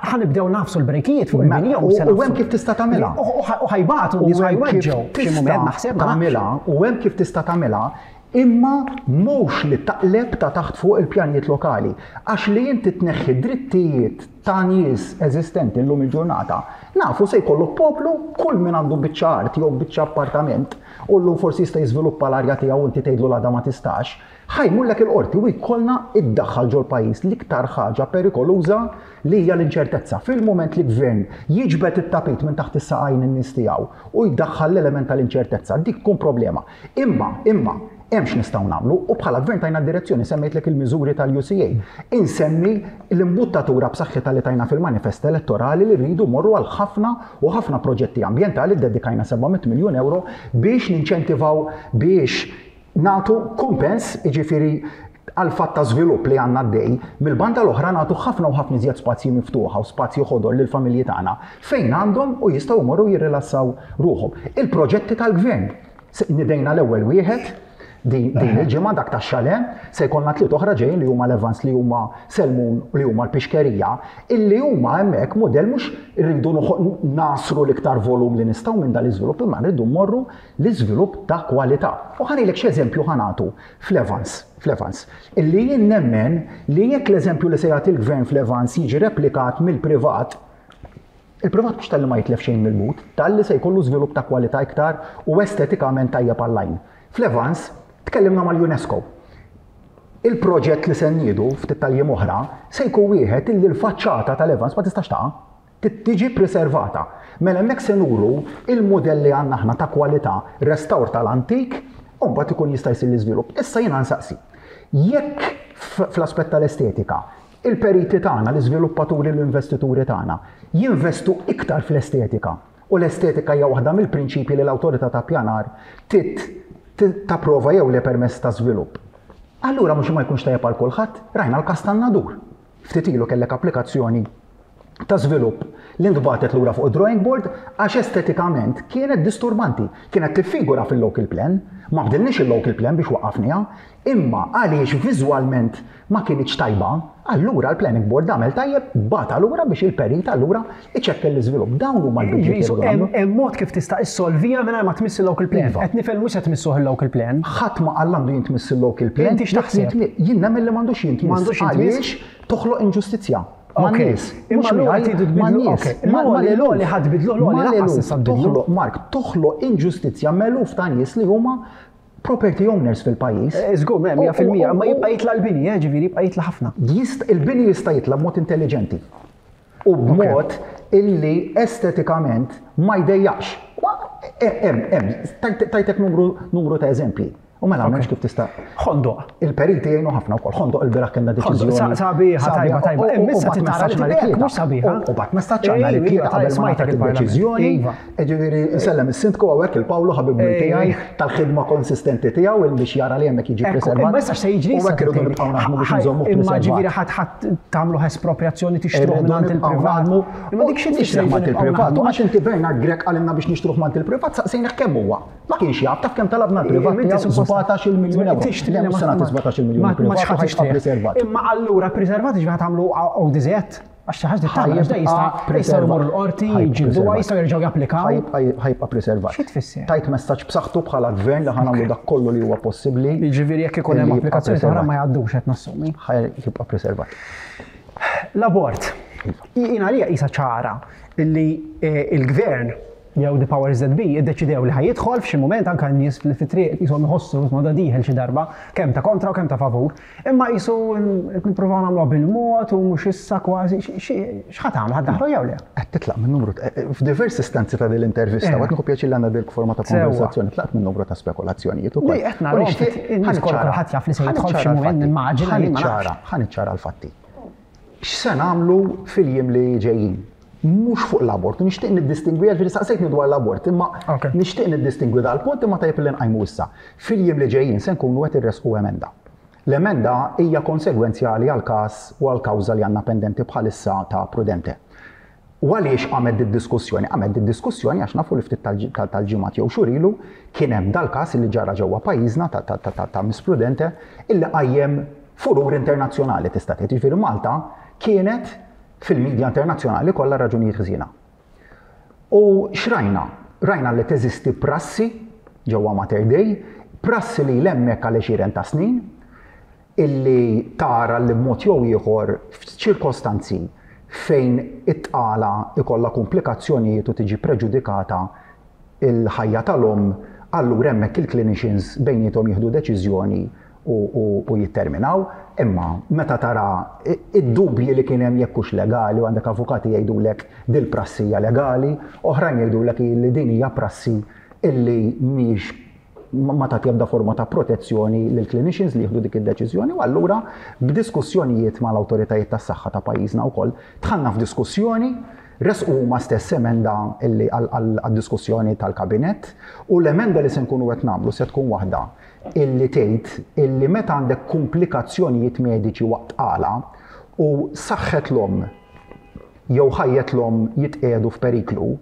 [SPEAKER 1] ħa nibdew nagħfsu l-brejkijiet fuq
[SPEAKER 2] Mela,
[SPEAKER 1] il-bini jew
[SPEAKER 2] u-
[SPEAKER 1] se
[SPEAKER 2] u
[SPEAKER 1] nagħfsu.
[SPEAKER 2] hemm kif tista' tagħmilha.
[SPEAKER 1] U- U u ħa jbatu, nies
[SPEAKER 2] U hemm kif
[SPEAKER 1] ħa jweġġgħu f'xi
[SPEAKER 2] tista'
[SPEAKER 1] moment, naħseb, ma nafx.
[SPEAKER 2] tagħmilha, u hemm kif tista' tagħmilha, imma mhux li taqleb ta' taħt fuq il-pjanijiet lokali. Għax li inti tneħħi drittijiet ta' nies eżistenti llum il-ġurnata, nafu se jkollok poplu, kull min għandu biċċa art jew biċċa appartament u llum forsi jista' jiżviluppa l-arja tiegħu u inti tgħidlu l-għada ma tistax, ħa jmurlek il-qorti u jkollna iddaħħal ġol pajjiż l-iktar ħaġa perikoluża li hija l-inċertezza. Fil-moment li gvern jiġbed it-tapit minn taħt is-saqajn in-nies tiegħu u jdaħħal l-element tal-inċertezza, dik tkun problema. Imma, imma, hemm x'nistgħu nagħmlu u bħala gvern tajna direzzjoni, semmejtlek il-miżuri tal-U C A. Insemmi l-imbuttatura b'saħħitha li tajna fil-manifest elettorali li rridu morru għal ħafna u ħafna proġetti ambjentali, dedikajna seba' mitt miljun euro biex ninċentivaw, biex natu kumpens, jiġifieri għal fatt ta' żvilupp li għandna għaddej, mill-banda l-oħra natu ħafna u ħafna iżjed spazji miftuħa u spazji ħodor lil familji tagħna fejn għandhom u jistgħu jmorru jirrilassaw ruħhom. Il-proġetti tal-gvern. Se- Nidejna l-ewwel wieħed din din il-ġimgħa, dak tax-Chalet, se jkollna tliet oħra ġejjin li huma l-Evans, li huma Selmun, li huma l-Pixkerija, illi huma hemmhekk mudell mhux irridu noħo- nasru l-iktar volum li nistgħu minn dal-iżvilupp, imma rridu mmorru l-iżvilupp ta' kwalità. U ħa ngħidlek x'eżempju ħa nagħtu fl-Evans, fl-Evans, illi jien nemmen li jekk l-eżempju li se jagħti l-gvern fl-Evans jiġi replikat mill-privat, il-privat mhux talli ma jitlef xejn mill-but, talli se jkollu żvilupp ta' kwalità iktar u estetikament tajjeb għall-għajn. Fl-Evans tkellimna mal-UNESCO. Il-proġett li se nniedu ftit tal-jiem oħra se jkun wieħed illi l-faċċata tal-Evans ma tistax taqa', tiġi preservata. Mela hemmhekk se nuru il-modelli għandna aħna ta' kwalità, restawr tal-antik, u mbagħad ikun jista' jsir l-iżvilupp. Issa jiena nsaqsi. Jekk fl-aspett tal-estetika, il-periti tagħna, l-iżviluppaturi, l-investituri tagħna jinvestu iktar fl-estetika, u l-estetika hija waħda mill-prinċipji li l-awtorità ta' pjanar tit tapprova jew le permess ta' żvilupp. Allura mhux ma jkunx tajjeb għal kulħadd, rajna l-kas tan-Nadur. Ftit ilu kellek applikazzjoni ta' żvilupp li ntbatet lura fuq drawing board għax estetikament kienet disturbanti, kienet tiffigura fil-local plan, ma bdilniex il-local plan biex waqafniha, imma għaliex viżwalment ma kienx tajba, allura l-planning board għamel tajjeb bagħatha lura biex il-perit allura iċekkel l-iżvilupp. Dawn huma l-bidliet.
[SPEAKER 1] Hemm mod kif tista' issolvija mingħajr ma tmiss il-local plan.
[SPEAKER 2] Iva.
[SPEAKER 1] Qed nifhem mhux qed tmissuh il-local plan.
[SPEAKER 2] Ħadd ma qal għandu jintmiss il-local plan.
[SPEAKER 1] Inti x'taħseb?
[SPEAKER 2] Jien nemmen li m'għandux jintmiss.
[SPEAKER 1] M'għandux jintmiss?
[SPEAKER 2] Għaliex toħloq inġustizzja.
[SPEAKER 1] Ok. Imma allura tridu tbidlu- ok. L-għoli, l-għoli ħa tbidlu, l-għoli lanqas tista' tbidlu.
[SPEAKER 2] Toħloq, Mark, toħloq inġustizzja m'eluf ta' nies li huma property owners fil-pajjiż.
[SPEAKER 1] Żgur, m'hemm mija fil-mija, ma jibqa' jitla' l-bini, eh, ġifieri jibqa' jitla' ħafna.
[SPEAKER 2] Jist, il-bini jista' jitla' b'mod intelligenti u b'mod illi estetikament ma jdejjax. Hemm, hemm, tajtek numru, numru ta' eżempji. U mela m'hemmx kif tista'
[SPEAKER 1] Ħondoq.
[SPEAKER 2] Il-periti jgħinu ħafna wkoll. Ħondoq il-bieraħ kellna deċiżjoni.
[SPEAKER 1] Sa- sabiħa, tajba, tajba.
[SPEAKER 2] U- u-
[SPEAKER 1] Imma issa
[SPEAKER 2] u bat
[SPEAKER 1] titara
[SPEAKER 2] messaġġ
[SPEAKER 1] li
[SPEAKER 2] nhar
[SPEAKER 1] tibek,
[SPEAKER 2] it-tlieta.
[SPEAKER 1] mhux sabiħa.
[SPEAKER 2] U bagħat messaġġ nhar
[SPEAKER 1] Ejwa,
[SPEAKER 2] it-tlieta
[SPEAKER 1] iva,
[SPEAKER 2] qabel ma
[SPEAKER 1] smajtek
[SPEAKER 2] ngħatat
[SPEAKER 1] il-Parlament.
[SPEAKER 2] id-deċiżjoni.
[SPEAKER 1] Iva.
[SPEAKER 2] Ġifieri nsellem is-sindku hawnhekk, il-Pawlu, ħabib
[SPEAKER 1] Ejwa.
[SPEAKER 2] tiegħi, tal-ħidma konsistenti tiegħu il biex jara li hemmhekk jiġi
[SPEAKER 1] Ekku,
[SPEAKER 2] preservat.
[SPEAKER 1] imma issa x'se jiġri
[SPEAKER 2] U
[SPEAKER 1] issa
[SPEAKER 2] hekk irridu
[SPEAKER 1] tgħidli.
[SPEAKER 2] nibqgħu naħdmu biex
[SPEAKER 1] Ħaj,
[SPEAKER 2] nżommu
[SPEAKER 1] Imma
[SPEAKER 2] preservat.
[SPEAKER 1] ġifieri ħadd ħadd tagħmlu espropriazzjoni, tixtruh
[SPEAKER 2] Irridu
[SPEAKER 1] mingħand
[SPEAKER 2] nibqgħu
[SPEAKER 1] il-privat.
[SPEAKER 2] naħdmu.
[SPEAKER 1] Imma dik xi
[SPEAKER 2] Nixtruh
[SPEAKER 1] tfisser
[SPEAKER 2] mant
[SPEAKER 1] nibqgħu
[SPEAKER 2] il-privat.
[SPEAKER 1] naħdmu?
[SPEAKER 2] Għax inti Bernard Grech qalilna biex nixtruh mant il-privat, saqsejna kemm huwa. Ma kienx jaf, taf kemm talabna l-privat
[SPEAKER 1] Inti
[SPEAKER 2] tiegħu?
[SPEAKER 1] suppost-
[SPEAKER 2] sbatax-il miljun euro.
[SPEAKER 1] Tixtri
[SPEAKER 2] Le,
[SPEAKER 1] li
[SPEAKER 2] mhux se
[SPEAKER 1] ma-
[SPEAKER 2] nagħti sbatax-il miljun
[SPEAKER 1] ma- ma
[SPEAKER 2] privat u
[SPEAKER 1] x'ħadd
[SPEAKER 2] ħa jibqa'
[SPEAKER 1] tixtrih.
[SPEAKER 2] preservat.
[SPEAKER 1] Imma allura preservat ġifieri tagħmlu O D Z. Għax xi ħaġa tagħmel, għax da jista' jistgħu jmorru l-qorti, jiġġielduha, jistgħu jerġgħu japplikaw.
[SPEAKER 2] Ħa jibqa' preservat.
[SPEAKER 1] Xi tfisser?
[SPEAKER 2] Tajt messaġġ b'saħħtu bħala gvern li ħa nagħmlu dak kollu li huwa possibbli.
[SPEAKER 1] Jiġifieri jekk ikun hemm
[SPEAKER 2] Illi jibqa'
[SPEAKER 1] applikazzjoni oħra ma
[SPEAKER 2] preservat.
[SPEAKER 1] jgħaddux, qed nassumi.
[SPEAKER 2] Ħa jibqa' preservat.
[SPEAKER 1] L-abort. Jien għalija qisha ċara illi il-gvern jew the powers that be iddeċidew li ħa jidħol f'xi mument, anke n-nies fit-triq qishom iħossu ma da dieħel xi darba, kemm ta' kontra u kemm ta' favur. Imma qisu nippruvaw nagħmluha bil-mod u mhux issa kważi. X'ħa tagħmlu, ħa ddaħħlu jew le?
[SPEAKER 2] Qed titlaq minn numru f'diversi istanzi ta' din l-intervista, qed nieħu pjaċir li għandna dik forma ta' konversazzjoni, tlaqt minn numru ta' spekulazzjonijiet ukoll.
[SPEAKER 1] Qed naraw in-nies kulħadd jaf li se jidħol f'xi mument, nimmaġina.
[SPEAKER 2] Ħa niċċara l-fatti. X'se nagħmlu fil-jiem li ġejjin? Mhux fuq l-abort, nixtieq niddistingwi, għalfejn saqsejtni dwar l-abort, imma nixtieq niddistingwi dal-punt, imma tajjeb li nqajmu issa. Fil-jiem li ġejjin se nkunu qed irresqu emenda. L-emenda hija konsegwenzjali għal każ u għal kawża li għandna pendenti bħalissa ta' Prudente. U għaliex għamed id-diskussjoni? Għamed id-diskussjoni għax nafu li ftit tal-ġimgħat jew xhur ilu kien hemm dal-każ li ġara ġewwa pajjiżna ta' Miss Prudente illi qajjem furur internazzjonali, tista' tgħid. Jiġifieri Malta kienet fil-medja internazzjonali kollha raġunijiet ħżiena. U x'rajna? Rajna li teżisti prassi ġewwa Mater Dei, prassi li l-hemmhekk għal għexieren ta' snin, illi tara li b'mod jew ieħor f'ċirkostanzi fejn it-tqala ikollha komplikazzjonijiet u tiġi preġudikata il-ħajja tal-omm, allura hemmhekk il-clinicians bejniethom jieħdu deċiżjoni u jitterminaw. Imma meta tara id-dubji li kien hemm jekk hux legali, u għandek avukati jgħidulek dil-prassi hija legali, oħrajn jgħidulek li din hija prassi illi mhix ma tagħti ebda forma ta' protezzjoni lil clinicians li jieħdu dik id-deċiżjoni. U allura b'diskussjonijiet mal-awtoritajiet tas-saħħa ta' pajjiżna wkoll dħalna f'diskussjoni, resqu huma stess emenda illi għad-diskussjoni tal-kabinett, u l-emenda li se nkunu qed nagħmlu se tkun waħda illi tgħid illi meta għandek komplikazzjonijiet mediċi waqt tqala u saħħet l-omm jew ħajjet l-omm jitqiegħdu f'periklu,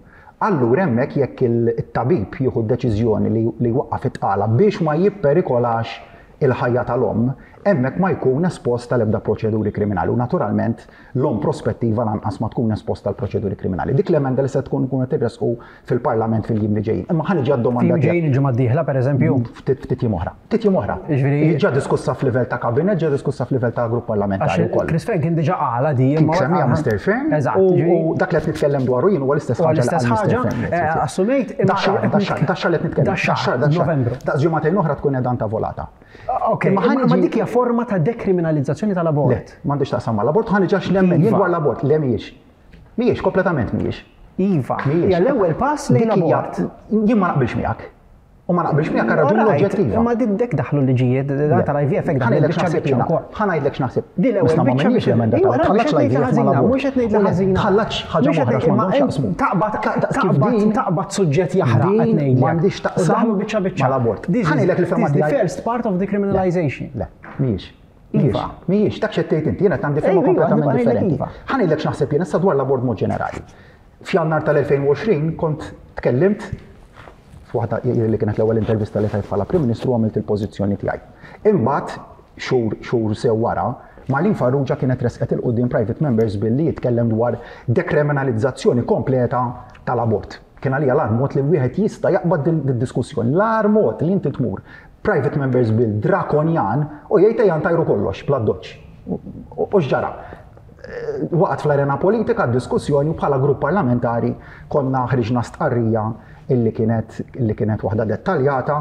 [SPEAKER 2] allura hemmhekk jekk it-tabib jieħu d-deċiżjoni li jwaqqaf it-tqala biex ma jipperikolax il-ħajja tal-omm, hemmhekk ma jkun espost tal-ebda proċeduri kriminali, u naturalment l-omm prospettiva lanqas ma tkun esposta għal proċeduri kriminali. Dik l-emenda li se tkun kun qed irresqu fil-Parlament fil-jiem li ġejjin. Imma ħa niġi għad-domanda
[SPEAKER 1] tiegħek. Ġejjin il-ġimgħa d-dieħla pereżempju?
[SPEAKER 2] Ftit jiem oħra. Ftit jiem oħra. Ġa diskussa f'livell ta' kabinet, ġa diskussa f'livell ta' grupp parlamentari wkoll.
[SPEAKER 1] Chris Fearne kien diġà qala di.
[SPEAKER 2] Kien semmija Mister Fearne. U dak li qed nitkellem dwaru jien huwa l-istess ħaġa.
[SPEAKER 1] L-istess ħaġa. Assumejt.
[SPEAKER 2] Daxxar li qed nitkellem.
[SPEAKER 1] Daxxar, Novembru.
[SPEAKER 2] Daqs ġimagħtejn oħra tkun qiegħda volata.
[SPEAKER 1] Ok, imma dik hija forma ta' dekriminalizzazzjoni tal-abort.
[SPEAKER 2] Le, m'għandix taqsam mal-abort, ħa niġi għax nemmen jien dwar l-abort. Le mhijiex. Mhijiex, kompletament mhijiex.
[SPEAKER 1] Iva, hija l-ewwel pass lejn l-abort.
[SPEAKER 2] Jien ma naqbilx miegħek. U ma naqbilx miegħek għal raġuni oġġettiva.
[SPEAKER 1] Imma dek daħlu liġijiet tal-I V F hekk daħlu biċċa biċċa wkoll.
[SPEAKER 2] Ħa ngħidlek x'naħseb.
[SPEAKER 1] Di l-ewwel biċċa
[SPEAKER 2] biċċa l-emenda ta' tħallatx l-I V F mal-abort.
[SPEAKER 1] Mhux qed ngħid li ħażina.
[SPEAKER 2] Tħallatx ħaġa oħra m'għandhomx x'jaqsmu.
[SPEAKER 1] Taqbad taqbad suġġett jaħraq qed ngħidlek.
[SPEAKER 2] M'għandix taqsam
[SPEAKER 1] biċċa biċċa
[SPEAKER 2] mal-abort. Ħa ngħidlek li fehma
[SPEAKER 1] tiegħi. The first part of decriminalization.
[SPEAKER 2] Le, mhijiex. Mhijiex, mhijiex, dak x'qed tgħid inti, jiena għandi fehma kompletament differenti. Ħa ngħidlek x'naħseb jien issa dwar l-abort mod ġenerali. F'Jannar tal-elfejn u għoxrin kont tkellimt f'waħda li kienet l-ewwel intervista li tajt bħala Prim Ministru, għamilt il-pożizzjoni tiegħi. Imbagħad xhur xhur sew wara, Marlene Farrugia kienet resqet il-quddiem private members billi jitkellem dwar dekriminalizzazzjoni kompleta tal-abort. Kien għalija l-agħar mod li wieħed jista' jaqbad din id-diskussjoni, l-agħar mod li inti tmur private members bill drakonjan u jgħid ejja ntajru kollox bla doċċ. U x'ġara? Waqgħet fl-arena politika d-diskussjoni u bħala grupp parlamentari konna ħriġna stqarrija illi kienet illi kienet waħda dettaljata.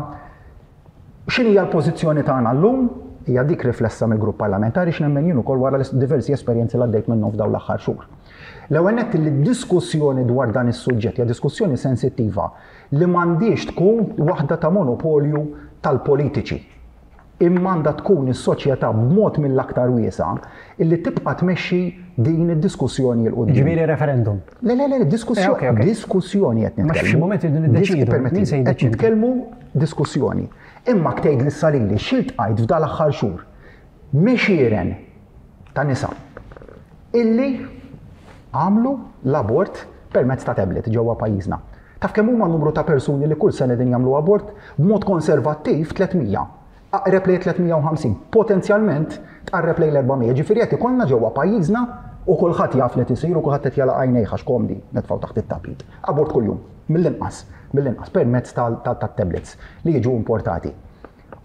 [SPEAKER 2] X'inhi hija l-pożizzjoni tagħna llum? Hija dik riflessa mill-grupp parlamentari x'nemmen jien ukoll wara diversi esperjenzi li għaddejt minnhom f'dawn l-aħħar xhur. L-ewwel nett li d-diskussjoni dwar dan is-suġġett hija diskussjoni sensittiva li m'għandix tkun waħda ta' monopolju tal-politiċi. Imma għandha tkun is-soċjetà b'mod mill-aktar wiesa' illi tibqa' tmexxi din id-diskussjoni 'l quddiem.
[SPEAKER 1] Ġifieri referendum.
[SPEAKER 2] Le, le, le, diskussjoni, diskussjoni qed
[SPEAKER 1] nitkellmu. Ma f'xi mument irridu niddeċiedu. Min se
[SPEAKER 2] Qed
[SPEAKER 1] jiddeċiedi?
[SPEAKER 2] nitkellmu diskussjoni. Imma tgħid li salili x'iltqajt f'dal aħħar xhur għexieren ta' nisa illi għamlu l-abort permezz ta' tablet ġewwa pajjiżna. Taf kemm huma numru ta' persuni li kull sena din jagħmlu abort b'mod konservattiv tliet mija. Aqreb lejn tliet mija u ħamsin, potenzjalment tqarreb lejn l-erba' mija. Ġifieri qed ikollna ġewwa pajjiżna u kulħadd jaf li tisir u kulħadd qed jagħlaq għajnejh għax komdi nitfgħu taħt it-tapit. Abort kuljum, mill-inqas, mill-inqas permezz tat-tablets li jiġu importati.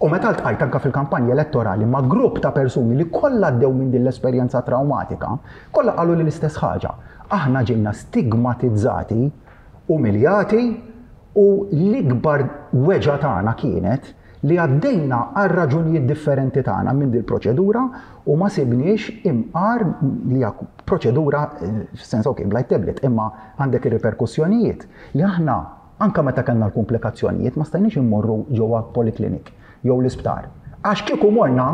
[SPEAKER 2] U meta ltqajt anke fil-kampanja elettorali ma' grupp ta' persuni li kollha għaddew minn din l-esperjenza traumatika, kollha qalu li l-istess ħaġa. Aħna ġejna stigmatizzati, umiljati, u l-ikbar weġgħa tagħna kienet li għaddejna għal raġunijiet differenti tagħna minn din proċedura u ma sibniex imqar li hija proċedura f'sens, ok, blight tablet, imma għandek ir-riperkussjonijiet li aħna anka meta kellna l-komplikazzjonijiet ma stajniex immorru ġewwa poliklinik jew l-isptar. Għax kieku morna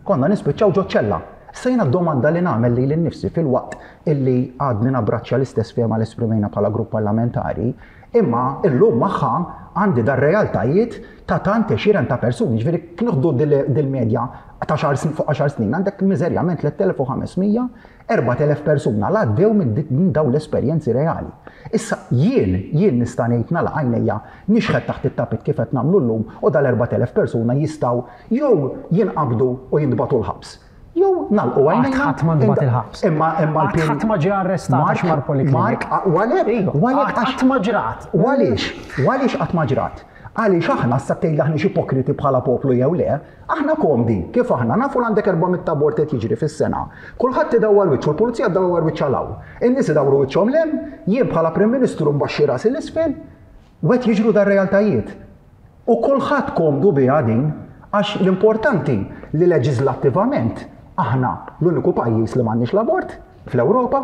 [SPEAKER 2] konna nispiċċaw ġo ċella. Sejna domanda li nagħmel lili nnifsi fil-waqt illi għadni nabraċċja l-istess fehma li esprimejna bħala grupp parlamentari, imma illum magħha għandi dar realtajiet ta' tant għexieren ta' persuni, ġifieri nieħdu dil-medja ta' xar snin fuq għaxar snin, għandek miżerjament tliet elef u ħames mija, erbat elef persuna la għaddew minn dawn l-esperjenzi reali. Issa jien, jien nista' ngħid nagħlaq għajnejja, nixħet taħt it-tapit kif qed nagħmlu llum, u dal-erbat elef persuna jistgħu jew jinqabdu u jintbagħtu l-ħabs. Jew nagħlqu għajnejna.
[SPEAKER 1] Ħadd ma ntbagħat il-ħabs.
[SPEAKER 2] Imma imma
[SPEAKER 1] Qatt ħadd ma ġie arrestat għax mar poliklinik.
[SPEAKER 2] Mark, għalek, għalek
[SPEAKER 1] Qatt ma ġrat.
[SPEAKER 2] Għaliex, għaliex qatt ma ġrat? Għaliex aħna sa tgħid aħna ipokriti bħala poplu jew le, aħna komdi, kif aħna nafu l għandek erba' mitt abort qed jiġri fis-sena. Kulħadd idawwar wiċċu, l-pulizija ddawwar wiċċha 'l hawn. In-nies idawru wiċċhom 'l hemm, jien bħala Prim Ministru mbaxxi rasi 'l isfel, u qed jiġru dar realtajiet. U kulħadd komdu biha din, għax l-importanti li leġislattivament aħna l-uniku pajjiż li m'għandniex l-abort fl-Ewropa.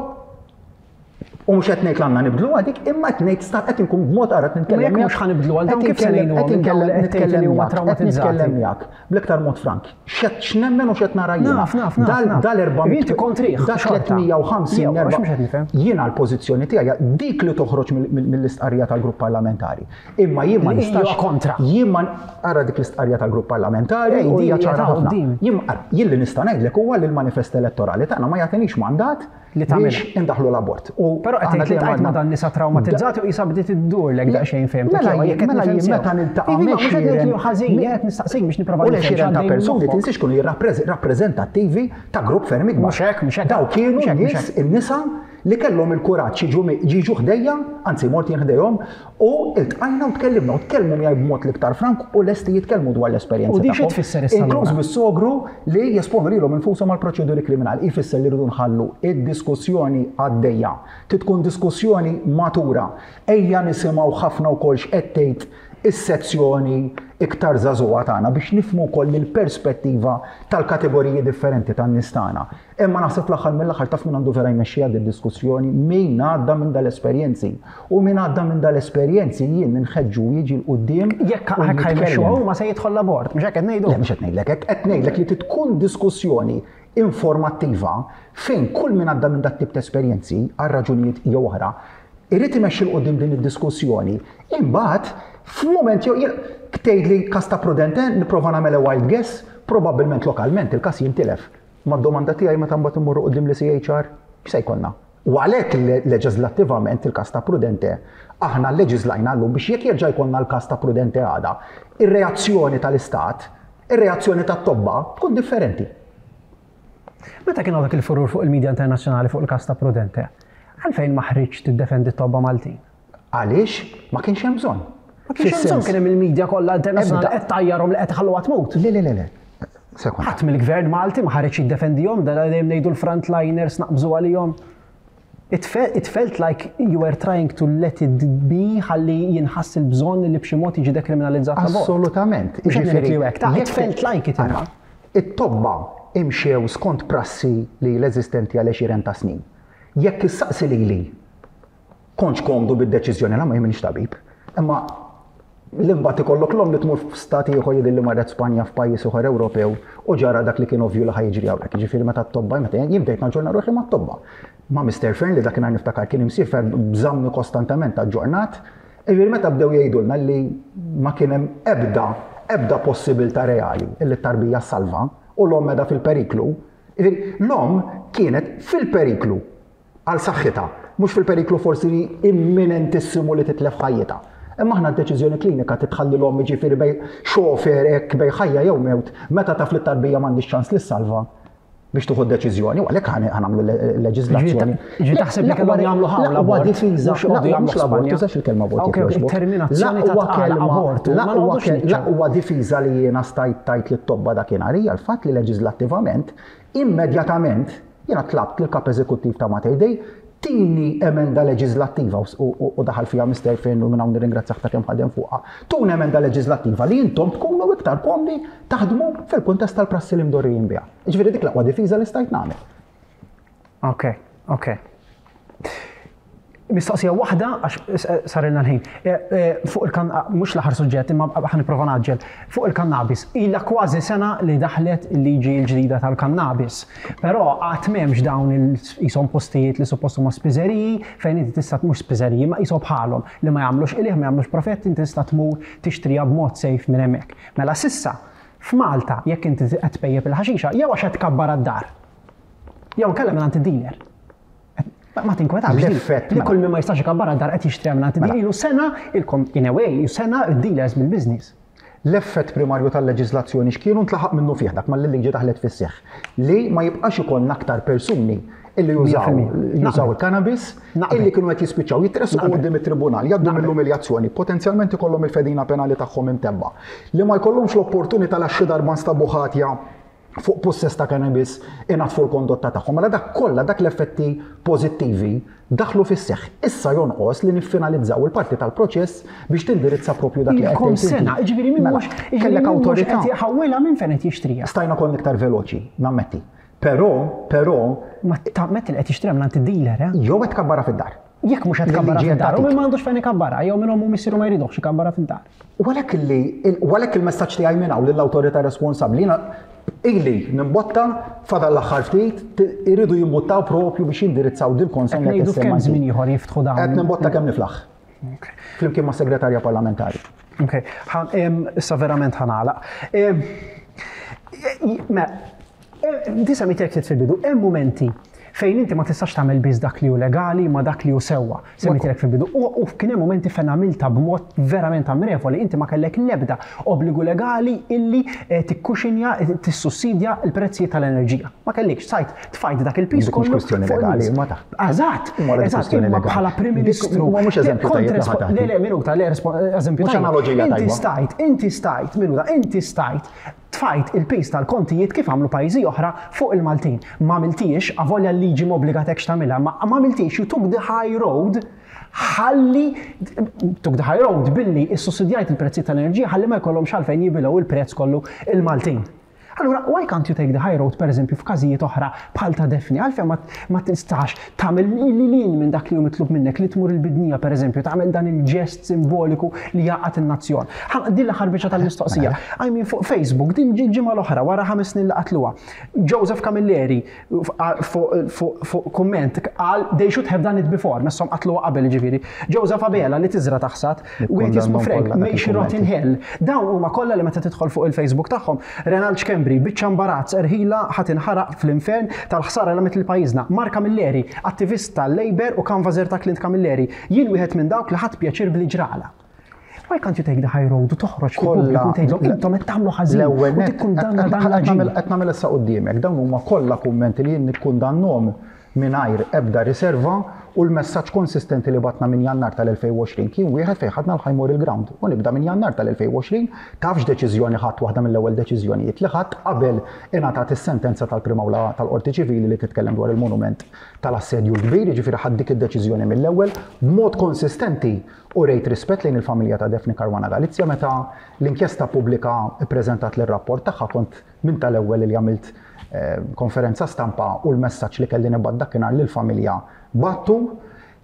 [SPEAKER 2] U mhux qed ngħid li għandna nibdlu għadik, imma qed ngħid sta qed inkun b'mod qarat nitkellem.
[SPEAKER 1] Jekk mhux ħa nibdlu għal dawn, kif se ngħinuhom minn dawn li qed tgħid li huma traumatizzati?
[SPEAKER 2] Nitkellem miegħek bl-iktar mod frank. X'qed x'nemmen u x'qed nara jiena.
[SPEAKER 1] Naf, naf, naf,
[SPEAKER 2] Dal
[SPEAKER 1] naf.
[SPEAKER 2] Dal erba' mitt
[SPEAKER 1] Inti kontrih,
[SPEAKER 2] da
[SPEAKER 1] xorta.
[SPEAKER 2] tliet mija u ħamsin
[SPEAKER 1] Jew, għax mhux qed nifhem.
[SPEAKER 2] Jiena l-pożizzjoni tiegħi dik li toħroġ mill- mill- mill-istqarrija tal-grupp parlamentari. Imma jien ma
[SPEAKER 1] Li
[SPEAKER 2] nistax
[SPEAKER 1] hija kontra.
[SPEAKER 2] Jien ma ara dik l-istqarrija tal-grupp parlamentari
[SPEAKER 1] Ej,
[SPEAKER 2] u
[SPEAKER 1] din
[SPEAKER 2] hija
[SPEAKER 1] hija
[SPEAKER 2] ċara
[SPEAKER 1] ta'
[SPEAKER 2] ħafna.
[SPEAKER 1] quddiem.
[SPEAKER 2] Jien ara, jien li nista' ngħidlek huwa li l-manifest elettorali tagħna ma jagħtinix mandat
[SPEAKER 1] Li tagħmilha.
[SPEAKER 2] biex indaħlu l-abort. U
[SPEAKER 1] Però qed
[SPEAKER 2] aħna
[SPEAKER 1] tgħid li
[SPEAKER 2] dejjem
[SPEAKER 1] tgħid ma
[SPEAKER 2] għandna-
[SPEAKER 1] dan nisa traumatizzati u jisa bdiet iddurlek daqsxejn fehmtek.
[SPEAKER 2] Mela
[SPEAKER 1] jew jekk qed
[SPEAKER 2] mela
[SPEAKER 1] nifhem
[SPEAKER 2] jien
[SPEAKER 1] sew.
[SPEAKER 2] meta niltaqa'
[SPEAKER 1] Iva, mhux qed ngħid li hu ħażin,
[SPEAKER 2] mi-
[SPEAKER 1] jien qed nistaqsik biex nipprova
[SPEAKER 2] U
[SPEAKER 1] nifhem
[SPEAKER 2] l-għexieren ta'
[SPEAKER 1] x'għaddej
[SPEAKER 2] persuni
[SPEAKER 1] minn moħħok.
[SPEAKER 2] tinsiex kienu rappreżentattivi ta' grupp ferm ikbar.
[SPEAKER 1] Mhux hekk, mhux hekk.
[SPEAKER 2] Daw kienu
[SPEAKER 1] Mhux hekk, mhux
[SPEAKER 2] nies, in-nisa li kellhom il-kuraġġ jiġu mi- jiġu ħdejja, anzi mort jien ħdejhom, u iltqajna u tkellimna u tkellmu miegħi b'mod l-iktar frank u lesti jitkellmu dwar l-esperjenza
[SPEAKER 1] U di xi
[SPEAKER 2] tagħhom.
[SPEAKER 1] tfisser issa
[SPEAKER 2] Inkluż
[SPEAKER 1] allura?
[SPEAKER 2] bis-sogru li jesponu lilhom infushom għal proċeduri kriminali. Ifisser li rridu nħallu id-diskussjoni għaddejja. Titkun diskussjoni matura. Ejja nisimgħu ħafna wkoll x'qed tgħid is-sezzjoni iktar żagħżugħa tagħna biex nifhmu wkoll il-perspettiva tal-kategoriji differenti tan-nies tagħna. Imma naħseb fl-aħħar mill-aħħar taf min għandu vera jmexxija din diskussjoni, min għadda minn dal-esperjenzi. U min għadda minn dal-esperjenzi jien nħeġġu jiġi 'l quddiem
[SPEAKER 1] Jekk
[SPEAKER 2] u
[SPEAKER 1] hekk ħa jmexxu
[SPEAKER 2] jitkellem.
[SPEAKER 1] ma se jidħol l-abort, mhux hekk qed ngħidu.
[SPEAKER 2] Le, mhux qed ngħidlek hekk, qed ngħidlek li tkun diskussjoni informattiva fejn kull min għadda minn dat tip ta' esperjenzi għal raġunijiet jew oħra irid imexxi 'l quddiem din id-diskussjoni. Imbagħad f'mument jew jien tgħid li każ ta' Prudente, nipprova nagħmel a wild guess, probabbilment lokalment il-każ jintilef. Ma d-domanda tiegħi, meta mbagħad immorru quddiem l-E C H R, x'se jkollna? U għalhekk le- leġislattivament il-każ ta' Prudente aħna leġislajna llum biex jekk jerġa' jkollna l-każ ta' Prudente għada, ir-reazzjoni tal-istat, ir-reazzjoni tat-tobba tkun differenti.
[SPEAKER 1] Meta kien dak il-furur fuq il-medja internazzjonali fuq il-każ ta' Prudente, għalfejn ma ħriġ tiddefendi t-tobba Maltin?
[SPEAKER 2] Għaliex ma kienx hemm bżonn.
[SPEAKER 1] Ma kienx hemm bżonn, kien hemm il-medja kollha internazzjonali
[SPEAKER 2] Ebda-
[SPEAKER 1] qed tajjarhom li qed ħalluha tmut.
[SPEAKER 2] Le, le, le, le. Sekonda.
[SPEAKER 1] Ħadd mill-gvern Malti ma ħareġ jiddefendihom, da dejjem ngħidu l-frontliners naqbżu għalihom. It, fe it felt like you were trying to let it be ħalli jinħass il-bżonn li b'xi mod jiġi dekriminalizzat l-abort.
[SPEAKER 2] Assolutament.
[SPEAKER 1] Mhux qed ngħid li hekk, ta' it
[SPEAKER 2] jekk-
[SPEAKER 1] felt like it imma.
[SPEAKER 2] Ara, it-tobba imxew skont prassi li l-eżistenti għal għexieren ta' snin. Jekk issaqsi lili kontx komdu bid-deċiżjoni, la ma jien minix tabib, imma l-imbagħad ikollok l-om li tmur f'stati ieħor, jidher li marret Spanja, f'pajjiż ieħor Ewropew, u ġara dak li kien ovvju li ħa jiġri hawnhekk. Jiġifieri meta t-tobba, meta jien bdejt naġġorna ruħi mat-tobba. Ma' Mister Fearne li dakinhar niftakar kien imsiefer żammni kostantement aġġornat. Jiġifieri meta bdew jgħidulna li ma kien hemm ebda ebda possibilità reali illi t-tarbija salva u l-omm qiegħda fil-periklu. Jiġifieri l-omm kienet fil-periklu għal saħħitha, mhux fil-periklu forsi imminentissimu li titlef ħajjitha. Imma aħna d-deċiżjoni klinika titħalli l-omm, ġifieri bejn xofer hekk, bejn ħajja jew mewt, meta taf li t-tarbija m'għandix ċans li salva. Biex tuħu deċiżjoni, u għalhekk ħa nagħmlu leġiżlazzjoni.
[SPEAKER 1] Ġi taħseb li kellhom jagħmlu hawn
[SPEAKER 2] l-abort. Difiża, mhux l-abort, tużax il-kelma abort.
[SPEAKER 1] Terminazzjoni ta' abort.
[SPEAKER 2] L-aqwa difiża li jiena stajt tajt lit-tobba dakinhar hija l-fatt li leġislattivament immedjatament jiena tlabt lill-kap eżekuttiv ta' Mater Dei tini emenda leġislattiva u daħal fija Mister Finn u minn hawn nirringrazzjah ta' kemm ħadem fuqha. Tuna emenda leġislattiva li intom tkunu iktar komdi taħdmu fil-kuntest tal-prassi li mdorrijin biha. Ġifieri dik l-aqwa difiża li stajt nagħmel.
[SPEAKER 1] Ok, ok. Mistoqsija waħda għax sarilna l-ħin. Fuq il-kan, mhux l-aħħar suġġett, imma ħa nipprova naġġel. Fuq il-kannabis, ilha kważi sena li daħlet il-liġi l-ġdida tal-kannabis. Però qatt m'hemmx dawn il-qishom postijiet li suppost huma spiżeriji fejn inti tista' mhux spiżeriji ma qishom bħalhom li ma jagħmlux qligħ, ma jagħmlux profett, inti tista' tmur tixtriha b'mod safe minn hemmhekk. Mela sissa f'Malta jekk inti qed tpejjep il-ħaxixa jew għax qed tkabbar għad-dar. Jew inkella minn dealer. Ma tinkwetax
[SPEAKER 2] l-effett
[SPEAKER 1] li kull min ma jistax ikabbar għad-dar qed jixtri minn għand ilu sena ilkom in a way, sena dealers bil-business.
[SPEAKER 2] L-effett primarju tal-leġiżlazzjoni x'kienu ntlaħaq minnu fih dak mal-liġi daħlet fis-seħħ li ma jibqax ikollna aktar persuni illi jużaw jużaw il-cannabis illi kienu qed jispiċċaw jitressqu quddiem it-tribunal, jgħaddu mill-umiljazzjoni, potenzjalment ikollhom il-fedina penali tagħhom imtebba, li ma jkollhomx l-opportunità għax xi darba nstabu ħatja fuq possess ta' cannabis inaddfu l-kondotta tagħhom. Mela dak kollha dak l-effetti pożittivi daħlu fis-seħħ. Issa jonqos li niffinalizzaw il-parti tal-proċess biex tindirizza propju dak li qed
[SPEAKER 1] tgħid. Sena, jiġifieri min mhux
[SPEAKER 2] kellek awtorità
[SPEAKER 1] qed jħawwilha minn fejn qed jixtriha.
[SPEAKER 2] Stajna konna iktar veloċi, nammetti. Però, però
[SPEAKER 1] ma tammetti li qed jixtriha minn dealer, eh?
[SPEAKER 2] Jew qed tkabbara fid-dar.
[SPEAKER 1] Jekk mhux qed tkabbara fid-dar, u min m'għandux fejn ikabbarha, jew minn ommu missieru ma jridux ikabbara fid-dar.
[SPEAKER 2] U għalhekk li għalhekk il-messaġġ tiegħi minn hawn lill-awtorità responsabbli ili nimbotta fadal l-aħħar ftit iridu jimbuttaw propju biex jindirizzaw dil-konsens
[SPEAKER 1] li qed kemm żmien ieħor jiftħu dawn.
[SPEAKER 2] Qed nimbotta kemm niflaħ. Flimkien ma' segretarja parlamentari.
[SPEAKER 1] Ok, issa verament ħa nagħlaq. Di semmejtek fil-bidu, hemm mumenti fejn inti ma tistax tagħmel biss dak li hu legali ma dak li hu sewwa. Semmejtilek fil-bidu. U kien hemm momenti fejn għamilta b'mod verament ammirevoli, inti ma kellek l-ebda obbligu legali illi tikkuxinja, tissussidja l-prezzijiet tal-enerġija. Ma kellekx, sajt tfajt dak il-piż kollu.
[SPEAKER 2] Mhux kwistjoni legali, ma ta.
[SPEAKER 1] Eżatt, eżatt, imma bħala Prim Ministru.
[SPEAKER 2] Ma mhux eżempju tajjeb.
[SPEAKER 1] Le, le, minuta, le, eżempju
[SPEAKER 2] tajjeb. Analoġija tajba.
[SPEAKER 1] Inti stajt, inti stajt, minuta, inti stajt tfajt il-piż tal-kontijiet kif għamlu pajjiżi oħra fuq il-Maltin. Ma għamiltix, avolja l-liġi m'obbligatekx tagħmilha, ma għamiltix, you took the high road, ħalli took the high road billi issussidjajt il-prezzi tal-enerġija ħalli ma jkollhomx għalfejn jibilgħu il-prezz kollu il-Maltin. Allura, why can't you take the high road, per eżempju, f'każijiet oħra bħal ta' Daphne? Għalfejn ma tistax tagħmel lilin minn dak li hu mitlub minnek li tmur il-bidnija, per eżempju, tagħmel dan il-ġest simboliku li jaqgħad in-nazzjon. Din l-aħħar biċċa tal-mistoqsija. I mean, fuq Facebook, din ġimgħa l-oħra wara ħames snin li qatluha. Joseph Camilleri fuq kumment qal they should have done it before, messhom qatluha qabel ġifieri. Joseph Abela li tiżra taħsad, wieħed jismu Frank, may she rot in hell. Dawn huma kollha li meta tidħol fuq il-Facebook tagħhom, Renald Schembri, biċċa imbarazz, erħila ħa tinħaraq fl-infern tal-ħsara li għamilt pajjiżna. Mark Camilleri, attivist tal-Labour u canvasser ta' Clint Camilleri. Jien wieħed minn dawk li ħadd pjaċir bli ġrala. Why can't you take the high road u toħroġ fil-pubbliku tgħidlhom intom qed tagħmlu ħażin u tikkundanna dan l-aġir.
[SPEAKER 2] Qed nagħmel issa quddiemek, dawn huma kollha kummenti li jien nikkundannhom mingħajr ebda riserva u l-messaġġ konsistenti li batna minn Jannar tal-elfejn u għoxrin kien wieħed fejn ħadna l-high moral ground. U nibda minn Jannar tal-elfejn u għoxrin tafx deċiżjoni ħadd waħda mill-ewwel deċiżjonijiet li ħadd qabel ingħatat is-sentenza tal-Prim Awla tal-Qorti Ċivili li titkellem dwar il-monument tal-assedju l-kbir, jiġifieri ħadd dik id-deċiżjoni mill-ewwel b'mod konsistenti u rejt rispett lejn il-familja ta' Daphne Caruana Galizia meta l-inkjesta pubblika ppreżentat lir-rapport tagħha kont minn tal-ewwel li għamilt konferenza stampa u l-messaġġ li kelli nibgħat dakinhar lill-familja battu.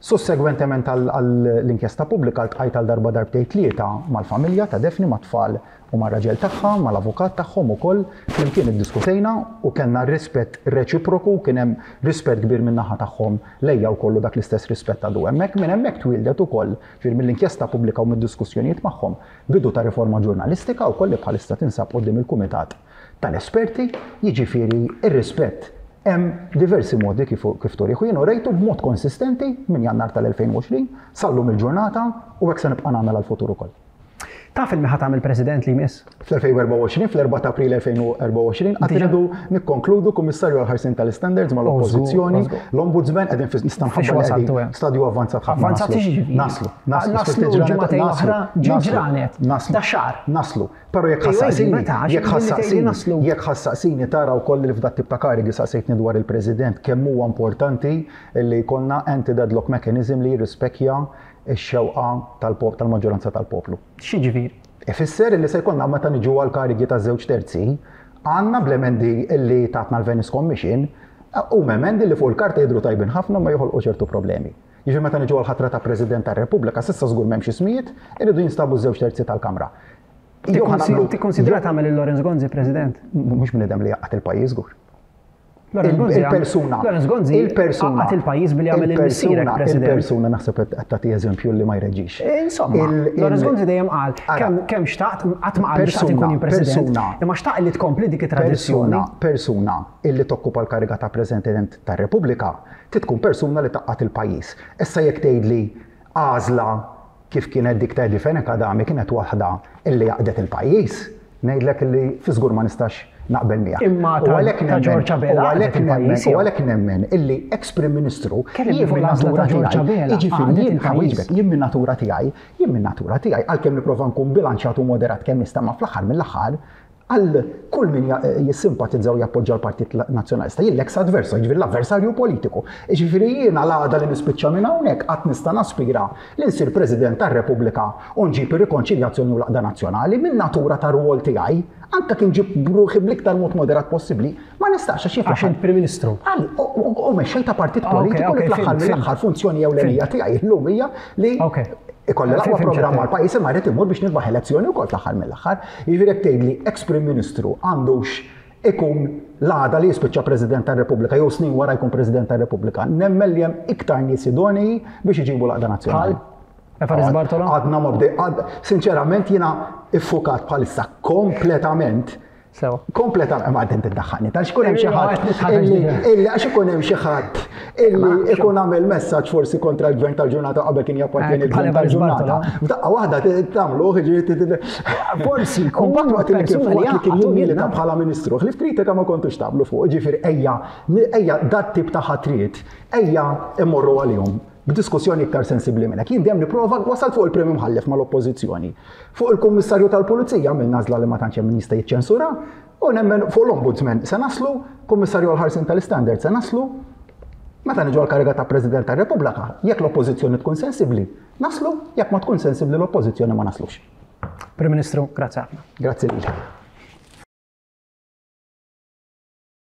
[SPEAKER 2] Sussegwentement għall-inkjesta pubblika ltqajt għal darba darbtejn tlieta mal-familja ta' Daphne, mat-tfal u mar-raġel tagħha, mal-avukat tagħhom ukoll, flimkien iddiskutejna u kellna rispett reċiproku, kien hemm rispett kbir min-naħa tagħhom lejja wkoll dak l-istess rispett għadu hemmhekk. Minn hemmhekk twildet ukoll, ġifieri mill-inkjesta pubblika u mid-diskussjonijiet magħhom, bidu ta' riforma ġurnalistika wkoll li bħalissa tinsab quddiem il-kumitat tal-esperti, jiġifieri ir-rispett hemm diversi modi kif kif turih u jien urejtu b'mod konsistenti minn Jannar tal-elfejn u għoxrin sal-lum il-ġurnata u hekk se nibqa' nagħmel għall-futur ukoll.
[SPEAKER 1] Taf il-meħat għamil president li jmiss?
[SPEAKER 2] fl-elfejn u erbgħa u għoxrin, fl-erbgħa ta' April elfejn u erbgħa u għoxrin, għad irridu nikkonkludu kummissarju għal-ħarsien tal-standards mal-oppożizzjoni, l-ombudsman qegħdin fi nista' nħabbar li qegħdin stadju avvanzat ħafna.
[SPEAKER 1] Avvanzat x'jiġifieri?
[SPEAKER 2] Naslu, naslu,
[SPEAKER 1] Naslu ġimagħtejn oħra, ġranet,
[SPEAKER 2] naslu,
[SPEAKER 1] da xahar.
[SPEAKER 2] Naslu. Però jekk
[SPEAKER 1] Ejwa,
[SPEAKER 2] ħassaqsini,
[SPEAKER 1] meta, għax
[SPEAKER 2] jekk
[SPEAKER 1] billi tgħidli
[SPEAKER 2] ħassaqsini,
[SPEAKER 1] naslu.
[SPEAKER 2] jekk ħassaqsini tara wkoll li f'dat tip ta' karigi saqsejtni dwar il-President kemm huwa importanti li jkollna anti-deadlock mechanism li jirrispekja x-xewqa tal-pop-, tal-maġġoranza tal-poplu.
[SPEAKER 1] X'jiġifieri?
[SPEAKER 2] Ifisser li se jkollna meta niġu għal karigi ta' żewġ terzi, għandna bl-emendi li tatna l-Venice Commission, u emendi li fuq il-karta jidhru tajbin ħafna ma joħolqu ċertu problemi. Jiġifieri meta niġu għal ħatra ta' President tar-Repubblika, s'issa żgur m'hemmx ismijiet, iridu jinstabu żewġ terzi tal-Kamra. Jew ħa nagħmlu-
[SPEAKER 1] Tikkonsidra tagħmel il Lawrence Gonzi President?
[SPEAKER 2] Mhux bniedem li jaqgħad il-pajjiż żgur.
[SPEAKER 1] Lawrence
[SPEAKER 2] Il-
[SPEAKER 1] Gonzi għam-
[SPEAKER 2] il-persuna,
[SPEAKER 1] Lawrence Gonzi
[SPEAKER 2] il-persuna,
[SPEAKER 1] għaqad il-pajjiż billi għamel il-missierek
[SPEAKER 2] il-persuna,
[SPEAKER 1] President.
[SPEAKER 2] Il-persuna naħseb qed tagħti eżempju li ma jreġix.
[SPEAKER 1] Insomma,
[SPEAKER 2] Il- il-
[SPEAKER 1] Lawrence Gonzi dejjem qal
[SPEAKER 2] Ara.
[SPEAKER 1] kemm kemm xtaqt qatt ma qal xtaqt
[SPEAKER 2] Persuna,
[SPEAKER 1] inkun jien President.
[SPEAKER 2] persuna.
[SPEAKER 1] Imma xtaq li tkompli dik it-tradizzjoni.
[SPEAKER 2] Persuna, persuna illi tokkupa l-kariga ta' President tar-Repubblika titkun persuna li taqqat il-pajjiż. Issa jekk tgħidli għażla kif kienet dik ta' Eddie Fenech Adami kienet waħda illi jaqdet il-pajjiż, ngħidlek illi fi żgur ma nistax naqbel miegħek.
[SPEAKER 1] Imma
[SPEAKER 2] U
[SPEAKER 1] ta'
[SPEAKER 2] għalhekk
[SPEAKER 1] ta'
[SPEAKER 2] nemmen-
[SPEAKER 1] George Abela
[SPEAKER 2] u għalhekk
[SPEAKER 1] għaqdet
[SPEAKER 2] nemmen-
[SPEAKER 1] il-pajjiż,
[SPEAKER 2] u
[SPEAKER 1] jew?
[SPEAKER 2] għalhekk nemmen illi ex-Prim Ministru
[SPEAKER 1] Kellimni
[SPEAKER 2] jien
[SPEAKER 1] fuq
[SPEAKER 2] minn
[SPEAKER 1] l-għażla
[SPEAKER 2] natura
[SPEAKER 1] ta' George
[SPEAKER 2] tiegħi,
[SPEAKER 1] Abela,
[SPEAKER 2] jiġifieri
[SPEAKER 1] għaqdet
[SPEAKER 2] jien
[SPEAKER 1] il-pajjiż.
[SPEAKER 2] ħawieġbek, jien minn natura tiegħi, jien minn natura tiegħi, għalkemm nipprova nkun bilanċjat u moderat kemm nista' ma fl-aħħar mill-aħħar, għal kull min ja-, jissimpatizza u jappoġġa l-Partit Nazzjonalista, jien l-ex adverso, jiġifieri l-avversarju politiku. Jiġifieri jiena l-għada li nispiċċa minn hawnhekk qatt nista' naspira li nsir President tar-Repubblika u nġib ir-rikonċiljazzjoni u l-għaqda nazzjonali minn natura tar-rwol tiegħi, anke kien ġib bruħi bl-iktar mod moderat possibbli, ma nistax għax jien
[SPEAKER 1] Għax
[SPEAKER 2] fl-aħħar
[SPEAKER 1] int Prim Ministru.
[SPEAKER 2] Għal, u, u, u mexxej ta' partit
[SPEAKER 1] Ah, ok,
[SPEAKER 2] politiku li
[SPEAKER 1] ok,
[SPEAKER 2] fl-aħħar
[SPEAKER 1] fhimt,
[SPEAKER 2] mill-aħħar funzjoni ewlenija tiegħi llum hija li
[SPEAKER 1] Ok.
[SPEAKER 2] ikolli l-aqwa
[SPEAKER 1] Fhimt,
[SPEAKER 2] programm
[SPEAKER 1] fhimt.
[SPEAKER 2] għall-pajjiż imma rrid imur biex nirbaħ elezzjoni wkoll fl-aħħar mill-aħħar. Jiġifieri jekk tgħidli ex-Prim Ministru għandux ikun l-għada li jispiċċa President tar-Repubblika jew snin wara jkun President tar-Repubblika, nemmen li hemm iktar nies idonei biex iġibu l-għaqda nazzjonali.
[SPEAKER 1] Bħal? Evarist Bartolo?
[SPEAKER 2] Għadna ma bdej, għad, sinċerament jiena iffukat bħalissa kompletament
[SPEAKER 1] Sewa.
[SPEAKER 2] Kompletament, ma għadden tiddaħħalni, tal xkun hemm xi
[SPEAKER 1] Ejwa,
[SPEAKER 2] ħadd
[SPEAKER 1] qed nitħarreġ
[SPEAKER 2] illi
[SPEAKER 1] diġà.
[SPEAKER 2] illi għax ikun hemm xi ħadd illi
[SPEAKER 1] Ma nafx.
[SPEAKER 2] ikun għamel messaġġ forsi kontra l-gvern tal-ġurnata qabel kien jappartjeni
[SPEAKER 1] Eh,
[SPEAKER 2] l-gvern
[SPEAKER 1] bħal Evarist
[SPEAKER 2] tal-ġurnata.
[SPEAKER 1] Bartolo.
[SPEAKER 2] F'daqqa waħda tagħmlu, ġifieri t- t-
[SPEAKER 1] Forsi jkun
[SPEAKER 2] Mbagħad waqt li kien
[SPEAKER 1] persuna li
[SPEAKER 2] waqt li kien
[SPEAKER 1] jaqgħad u
[SPEAKER 2] jimmilita
[SPEAKER 1] jiena.
[SPEAKER 2] bħala ministru, ħlief kritika ma kontux tagħmlu fuq, ġifieri ejja, ejja dat tip ta' ħatriet, ejja immorru għalihom b'diskussjoni iktar sensibbli minn hekk. Jien dejjem nipprova wasalt fuq il-Prim Imħallef mal-Oppożizzjoni. Fuq il-Kummissarju tal-Pulizija minn nażla li ma tantx hemm min jista' jiċċensura, u nemmen fuq l-Ombudsman se naslu, Kummissarju għall-ħarsien tal-Standard se naslu. Meta niġu għall-kariga ta' President tar-Repubblika, jekk l-Oppożizzjoni tkun sensibbli, naslu, jekk ma tkun sensibbli l-Oppożizzjoni ma naslux.
[SPEAKER 1] Prim Ministru, grazzi ħafna.
[SPEAKER 2] Grazzi lilek.